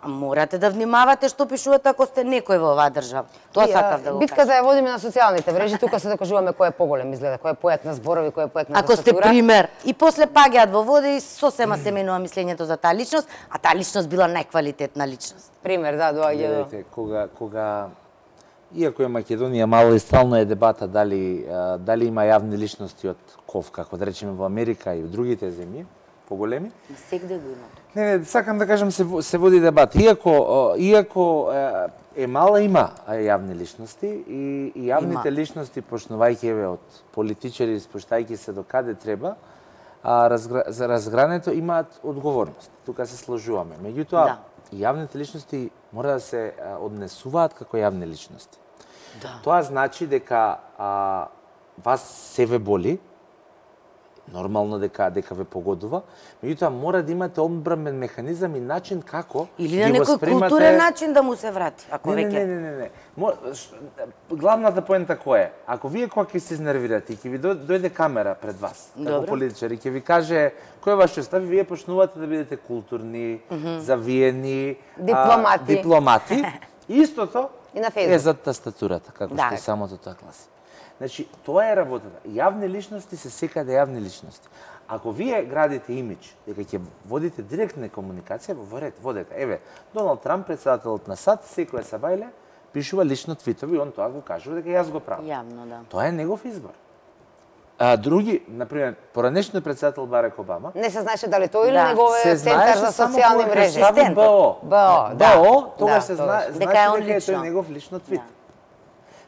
Морате да внимавате што пишувате ако сте некој во оваа држава. Тоа сакав да го кажам. Битката ја водиме на социјалните мрежи, тука се докажуваме кој е поголем изгледа, кој е поет на зборови, кој е поет на тастатура. Ако сте пример и после паѓаат во вода и сосема се менува мислењето за таа личност, а таа личност била најквалитетна личност. Пример, да, доаѓа до. Кога иако е Македонија мало и стално е дебата дали има јавни личности од КОВ, како да речеме во Америка и во другите земји поголеми. Сегде го има. Не, сакам да кажам се води дебат. Иако е мала, има јавни личности и јавните личности, почнувајќи од политичари, спуштајќи се до каде треба, за разгрането имаат одговорност. Тука се сложуваме. Меѓутоа, јавните личности мора да се однесуваат како јавни личности. Тоа значи дека вас се ве боли, нормално дека ве погодува, меѓутоа мора да имате одбранен механизам и начин како или на некој културен начин да му се врати, ако веќе. Не. Главната поента која е? Ако вие кога ќе се изнервирате и ќе ви дојде камера пред вас, како политичар, и ќе ви каже кој е вашиот став, вие почнувате да бидете културни, завиени, дипломати. Истото е за тастатурата, како што самото тоа гласи. Значи, тоа е работата. Јавни личности се секаде јавни личности. Ако вие градите имидж, дека ќе водите директна комуникација, водете. Еве, Доналд Трамп, председателот на САД, секоја сабајле, пишува лично твитови, он тоа го кажува дека јас го правам. Јавно, да. Тоа е негов избор. Други, например, поранешниот председател Барак Обама, не се знаеше дали тој или неговиот центар за социјални мрежи. БО, тогаш се знаеше дека е тој негов лично твит.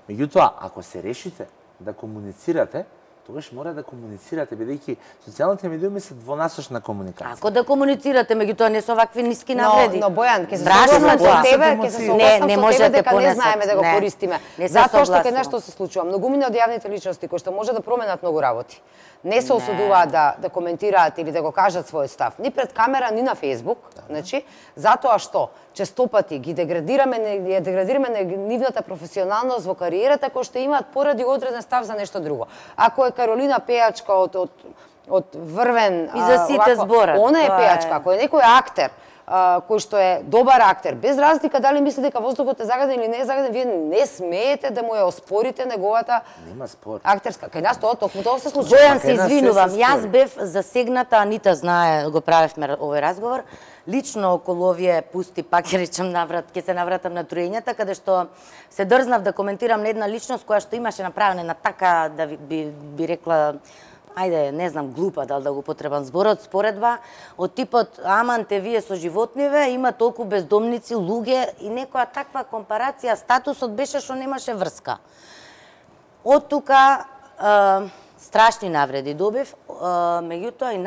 Меѓутоа, ако се решите да комуницирате, тогаш мора да комуницирате, бидејќи социјалните медиуми се двонасочна комуникација. Ако да комуницирате, меѓутоа не со вакви ниски навреди. Но Бојан, ќе се согласам со тебе, дека не знаеме да го користиме. Затоа што кај нешто се случува. Многумина од јавните личности кои што може да променат многу работи, не се осудуваат да коментираат или да го кажат својот став, ни пред камера, ни на Facebook, значи, затоа што честопати ги деградираме нивната професионалност во кариерата кој што имаат поради одреден став за нешто друго. Ако е Каролина пејачка од Врвен, и за сите зборат. Она е пејачка, ако е некој актер кој што е добар актер, без разлика дали мисли дека воздухот е загаден или не е загаден, вие не смеете да му ја оспорите неговата актерска. Кај нас токму тоа се случува. Бојан, се извинувам, јас бев засегната, Анита знае, го правевме овој разговор, лично околу овие пусти, пак ќе речем ќе се навратам на троењата, каде што се дрзнав да коментирам на една личност која што имаше направена така, да би рекла, ајде, не знам, глупа, дали да го потребам зборот, споредба, од типот, аманте вие со животниве, има толку бездомници, луѓе, и некоја таква компарација, статусот беше што немаше врска. Од тука, страшни навреди добив, меѓутоа и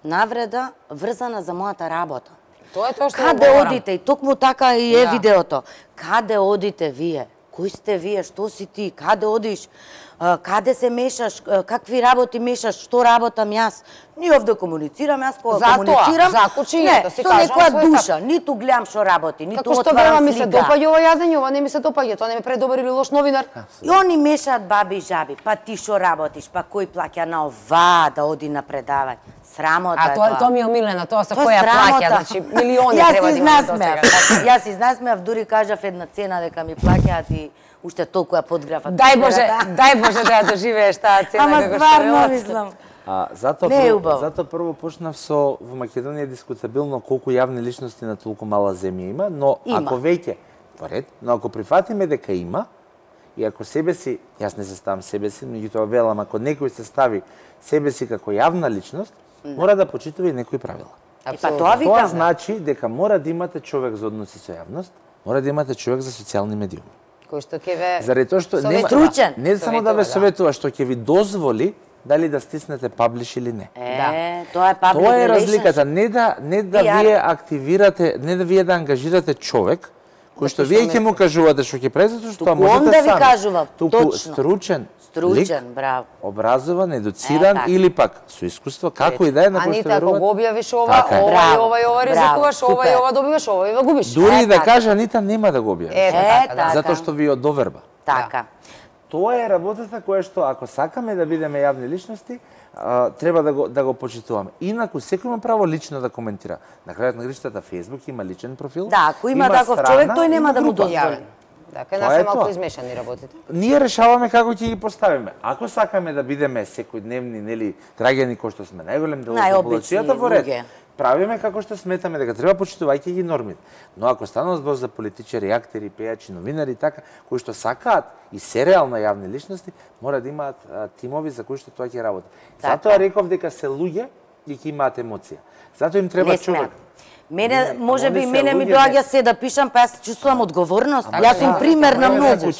навреда врзана за мојата работа. Тоа е тоа што Каде одите? И токму така и е видеото. Каде одите вие? кој сте вие, што си ти, каде одиш, каде се мешаш, какви работи мешаш, што работам јас. Ние овде комуницирам, јас кога комуницирам, за кучињето си со кажам некоја свој душа, ниту гледам што работи, ниту Како што отварам ми слика. се допаѓа ова јадење, ова не ми се допаѓа, тоа не ме предобар или лош новинар. И они мешаат баби и жаби, па ти што работиш, па кој плаќа на ова да оди на предавање. Срамота е тоа. Тоа ми е омилена, тоа со Тоа која срамота. плаќа, значи милиони треба да имаме до сега. Јас се изнасмеав, дури кажав една цена дека ми плаќаат и уште толку ја подграфат. Дај Боже да ја доживееш таа цена Ама како што стварно е. мислам. Затоа прво почнав со во Македонија е дискутабилно колку јавни личности на толку мала земја има, но ако веќе во ред, но ако прифатиме дека има и ако себе си, јас не се ставам себе си, меѓутоа велам ако некој се стави себе си како јавна личност, мора да почитува и некои правила. Па тоа викам. Тоа значи дека мора да имате човек за односи со јавност, мора да имате човек за социјални медиуми. Кој што ќе ве Заради тоа што Стручен. не само да ве советува, што ќе ви дозволи дали да стиснете паблиш или не. Тоа е public Тоа е relations. разликата, не да вие активирате, не да вие да ангажирате човек кој што вие ќе му кажувате што ќе прави, затоа што тоа можете он да ви сами. кажува, Туку точно. стручен, Стручен, лик, браво. образован, едуциран или пак со искуство, како и да е на кој што Анита, ако верувате. го објавиш ова, Така е. ова и ова ризикуваш, ова и ова добиваш, ова и ова губиш. Дури и да каже Анита нема да го објави. Така, да. Затоа што ви одоверба. Така. Тоа е работата која што ако сакаме да бидеме јавни личности, треба да го почитуваме. Инаку секој има право лично да коментира. На крајот на гришата Facebook има личен профил. Да, ако има таков човек, тој нема да му дозволи. Така, Тоа нас е е малку тоа. измешани работите. Ние решаваме како ќе ги поставиме. Ако сакаме да бидеме секојдневни, нели, граѓани кои што сме најголем дел од Најобични популацијата во ред, луѓе. правиме како што сметаме дека треба почитувајќи ги нормите. Но ако станува збор за политичари, актери, пејачи, новинари така, кои што сакаат и се реално јавни личности, мора да имаат тимови за кои што тоа ќе работи. Затоа реков дека се луѓе и ќе имаат емоција. Затоа им треба човек. Мене, може би, они се мене ми луѓе, доаѓа се да пишам, па јас чувствувам одговорност. Јас сум пример на многу.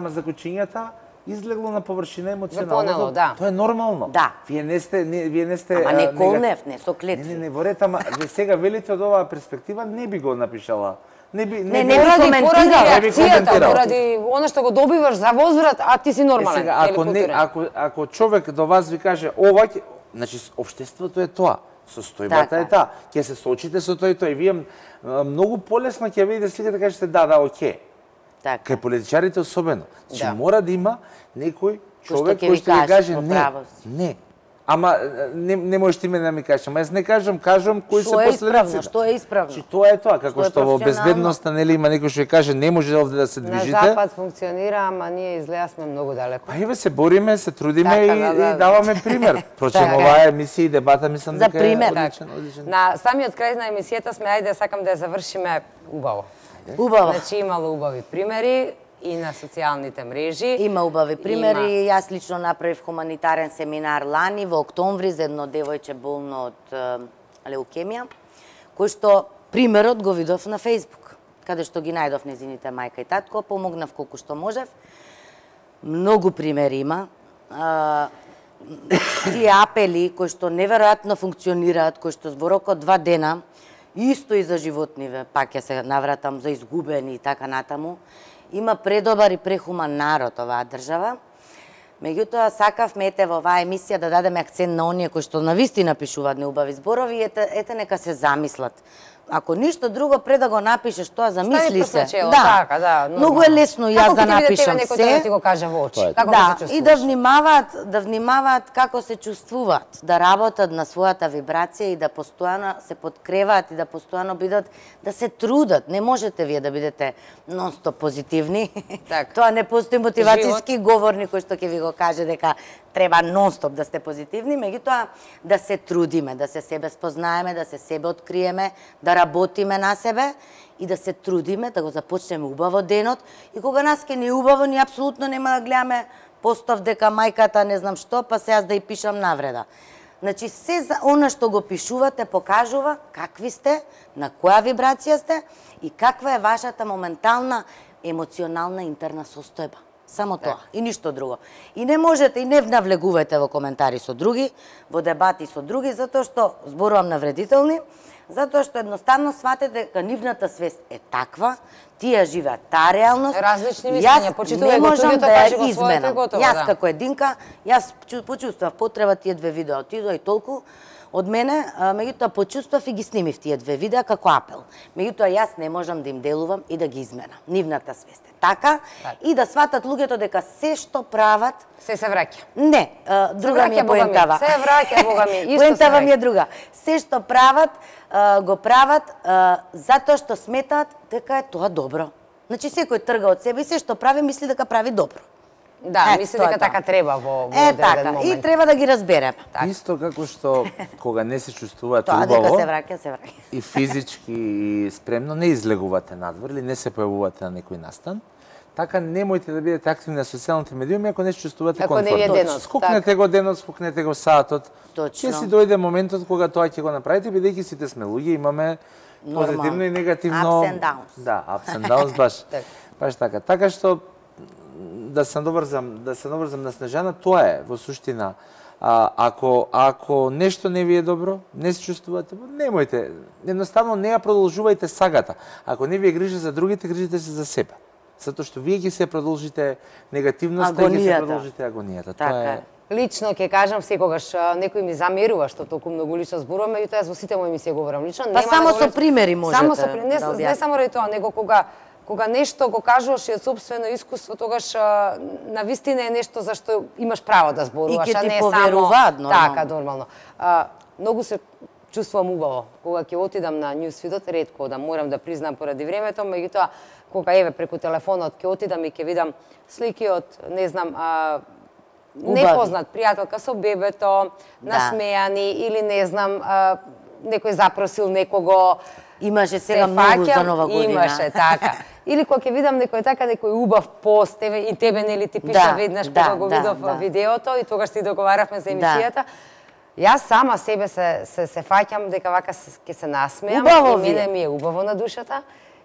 За кучињата излегло на површина емоционално. Запонело, да. Тоа е нормално. Да. Вие не сте Ама не колнев, не со клетви. Не, во ред, ама вие сега велите од оваа перспектива не би го напишала. Не би не Поради коментирала. реакцијата, поради она што го добиваш за возврат, а ти си нормален. Сега, ако човек до вас ви каже ова, значи општеството е тоа. Состојбата е таа. Ќе се соочите со тоа и тоа. И вие многу полесно ќе видите сликата да кажете да, оке. Така. Кај политичарите особено. Значи мора да има некој човек кој кој што ви каже не. не. Ама не можеш ти мене да ми кажеш, ама јас не кажам кои се последиците. Што е исправно? Чи тоа е тоа, како што во безбедноста нели има некој што ќе каже не може овде да се движите. На запад функционира, ама ние изгледа сме многу далеко. Па еве се бориме, се трудиме Така, и даваме пример. Прочем оваа емисија и дебата мислам дека е одличен. На самиот крај на емисијата сме ајде сакам да ја завршиме убаво. Убаво. Значи имало убави примери и на социјалните мрежи. Има убави примери. Јас лично направив хуманитарен семинар лани во октомври за едно девојче болно од леукемија, кој што примерот го видов на Facebook, каде што ги најдов незините мајка и татко, помогнав колку што можев. Многу примери има. Тие апели кои што неверојатно функционираат, кои што во рок од 2 дена, исто и за животниве, пак ќе се навратам за изгубени и така натаму, има предобар и прехуман народ оваа држава. Меѓутоа, сакавме во оваа емисија да дадеме акцент на оние кои што навистина пишуваат неубави зборови, ете нека се замислат. Ако ништо друго, пред да го напишеш тоа, замисли се. Така, да. Многу е лесно јас да напишам се. Како ќе биде некој да ти го каже во очи? Како да, се чувствуваш? и да внимаваат како се чувствуваат, да работат на својата вибрација и да постојано се подкреваат и да постојано бидат, да се трудат. Не можете вие да бидете нон-стоп позитивни. Так. Тоа не постои мотивацијски говорник кој што ќе ви го каже дека треба нон-стоп да сте позитивни, меѓутоа да се трудиме, да се себе спознаеме, да се себе откриеме, да работиме на себе и да се трудиме да го започнеме убаво денот и кога нас ке не убаво, ни апсолутно нема да гледаме постав дека мајката не знам што, па се јас да ја пишам навреда. Значи, се за она што го пишувате покажува какви сте, на која вибрација сте и каква е вашата моментална емоционална интерна состојба. Само тоа и ништо друго. И не можете и не навлегувајте во коментари со други, во дебати со други, затоа што зборувам навредителни, Затоа што едноставно сватете дека нивната свест е таква, тие живеат таа реалност. Различни мислења, почитувај го студиото, кажи го своето и готово. Јас како единка, јас почувствав потреба тие две видеа отидоа и толку од мене, меѓутоа почувствав и ги снимив тие две видеа како апел. Меѓутоа јас не можам да им делувам и да ги изменам. Нивната свест е така и да сватат луѓето дека се што прават се враќа. Не, друга ми е поентава. Се враќа, бога ми, исто се поентава ми е враќа. друга. Се што прават, го прават затоа што сметаат дека е тоа добро. Значи секој трга од себе и се што прави мисли дека прави добро. Да, мисли дека така треба во одреден така, момент. и треба да ги разбереме. Исто како што кога не се чувствувате Тоа убаво, дека се враќа, се враќа. и физички и спремно не излегувате надвор или не се појавувате на некој настан, така немојте да бидете активни на социјалните медиуми ако не се чувствувате Ако не ви е комфортно. денот, Скокнете го денот, скокнете го саатот. Точно. Ќе си дојде моментот кога тоа ќе го направите, бидејќи сите сме луѓе, имаме позитивно и негативно. Ups and downs. Да, ups and downs, баш така. Така што да се наврзам на Снежана, тоа е во суштина. Ако нешто не ви е добро, не се чувствувате, немојте, едноставно не ја продолжувајте сагата. Ако не ви е грижа за другите, грижите се за себе. Затоа што вие ќе се продолжите негативноста и ќе се продолжите агонијата. Тоа е. Лично ќе кажам секогаш некој ми замерува што толку многу лично зборуваме, меѓутоа јас во сите мои емисии говорам лично. Па само со примери можете. Само со примери, не само ради тоа, него кога нешто го кажуваш и од сопствено искуство, тогаш навистина е нешто за што имаш право да зборуваш, а не поверуваат, само така нормално. Многу се чувствувам убаво кога ќе отидам на Newsfeed, ретко да морам да признам поради времето, меѓутоа кога еве преку телефонот ќе отидам и ќе видам слики од не знам непознат пријателка со бебето, насмејани или не знам некој запросил некого. Имаше сега многу за Нова година. Имаше, така. Или кога ќе видам некој убав пост, и тебе нели ти пиша веднаш кога го видов видеото и тогаш си договаравме за емисијата. Јас сама себе се фаќам дека вака ќе се насмеам и мене ми е убаво на душата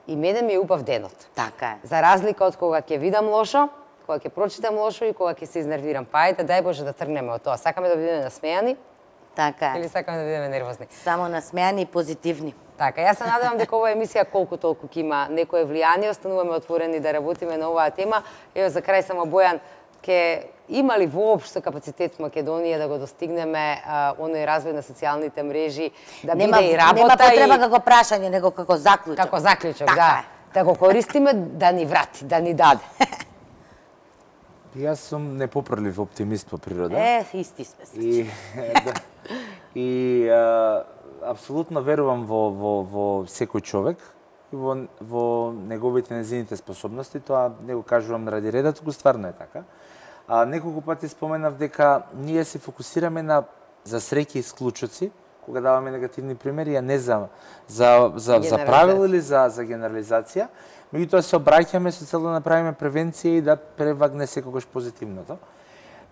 и мене ми е убав денот. Така е. За разлика од кога ќе видам лошо, кога ќе прочитам лошо и кога ќе се изнервирам. Па ајде, дај Боже да тргнеме од тоа. Сакаме да бидеме насмејани? Така е. Или сакаме да бидеме нервозни? Само насмејани и позитивни. Така, јас се надевам дека оваа емисија колку толку ќе има некое влијание, остануваме отворени да работиме на оваа тема. Ево за крај само Бојан, ќе има ли воопшто капацитет в Македонија да го достигнеме оној развој на социјалните мрежи, да биде и работа нема потреба како прашање, него како заклучок. Како заклучок, да. Да го користиме, да ни врати, да ни даде. Јас сум непоправлив оптимист по природа. Исти сме. И апсолутно верувам во секој човек и во неговите незините способности. Тоа не го кажувам ради реда, туку стварно е така. Неколку пати споменав дека ние се фокусираме на за среќи и склучоци, кога даваме негативни примери, а не за правило или за генерализација. Меѓутоа се обраќаме со цел да направиме превенција и да превагне секогаш позитивното.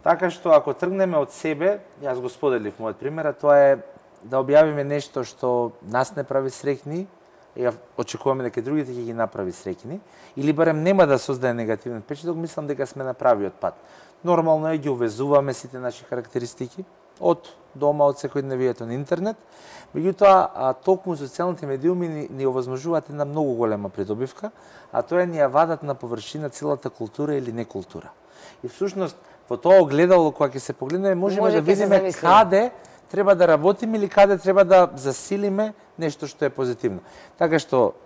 Така што ако тргнеме од себе, јас го споделив мојот пример, а тоа е да објавиме нешто што нас не прави среќни, и очекуваме дека другите ќе ги направи среќни, или барем нема да создаде негативен впечаток, мислам дека сме на правиот пат. Нормално е ги увезуваме сите наши карактеристики од дома, од секојдневието на интернет. Меѓутоа, токму социјалните медиуми ни овозможуваат една многу голема придобивка, а тоа е ни ја вадат на површина целата култура или некултура. И всушност, во тоа огледало, кога ќе се погледнеме, можеме да видиме каде треба да работиме или каде треба да засилиме нешто што е позитивно. Така што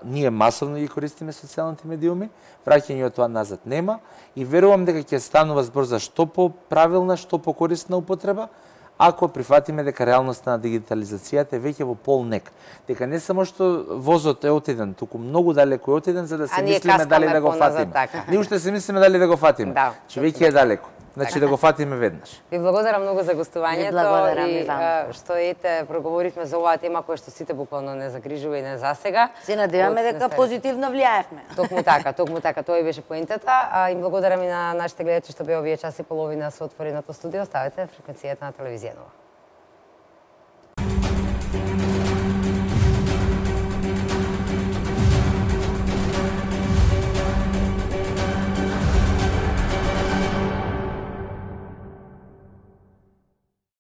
ние масовно ги користиме социјалните медиуми, враќање од тоа назад нема и верувам дека ќе станува збор за што поправилна, што покорисна употреба, ако прифатиме дека реалноста на дигитализацијата е веќе во полнек. Дека не само што возот е отиден, туку многу далеко е отиден за да се мислиме дали да го фатиме. Ние уште се мислиме дали да го фатиме, че веќе е далеко. Значи да го фатиме веднаш. Ви благодарам многу за гостувањето и што проговоривме за оваа тема која што сите буквално не загрижува и не засега. Се надеваме дека позитивно влијаевме. Токму така, тоа и беше поентата. И благодарам и на нашите гледачи што беа овие час и половина со отвореното студио. Ставете фреквенцијата на телевизија Нова.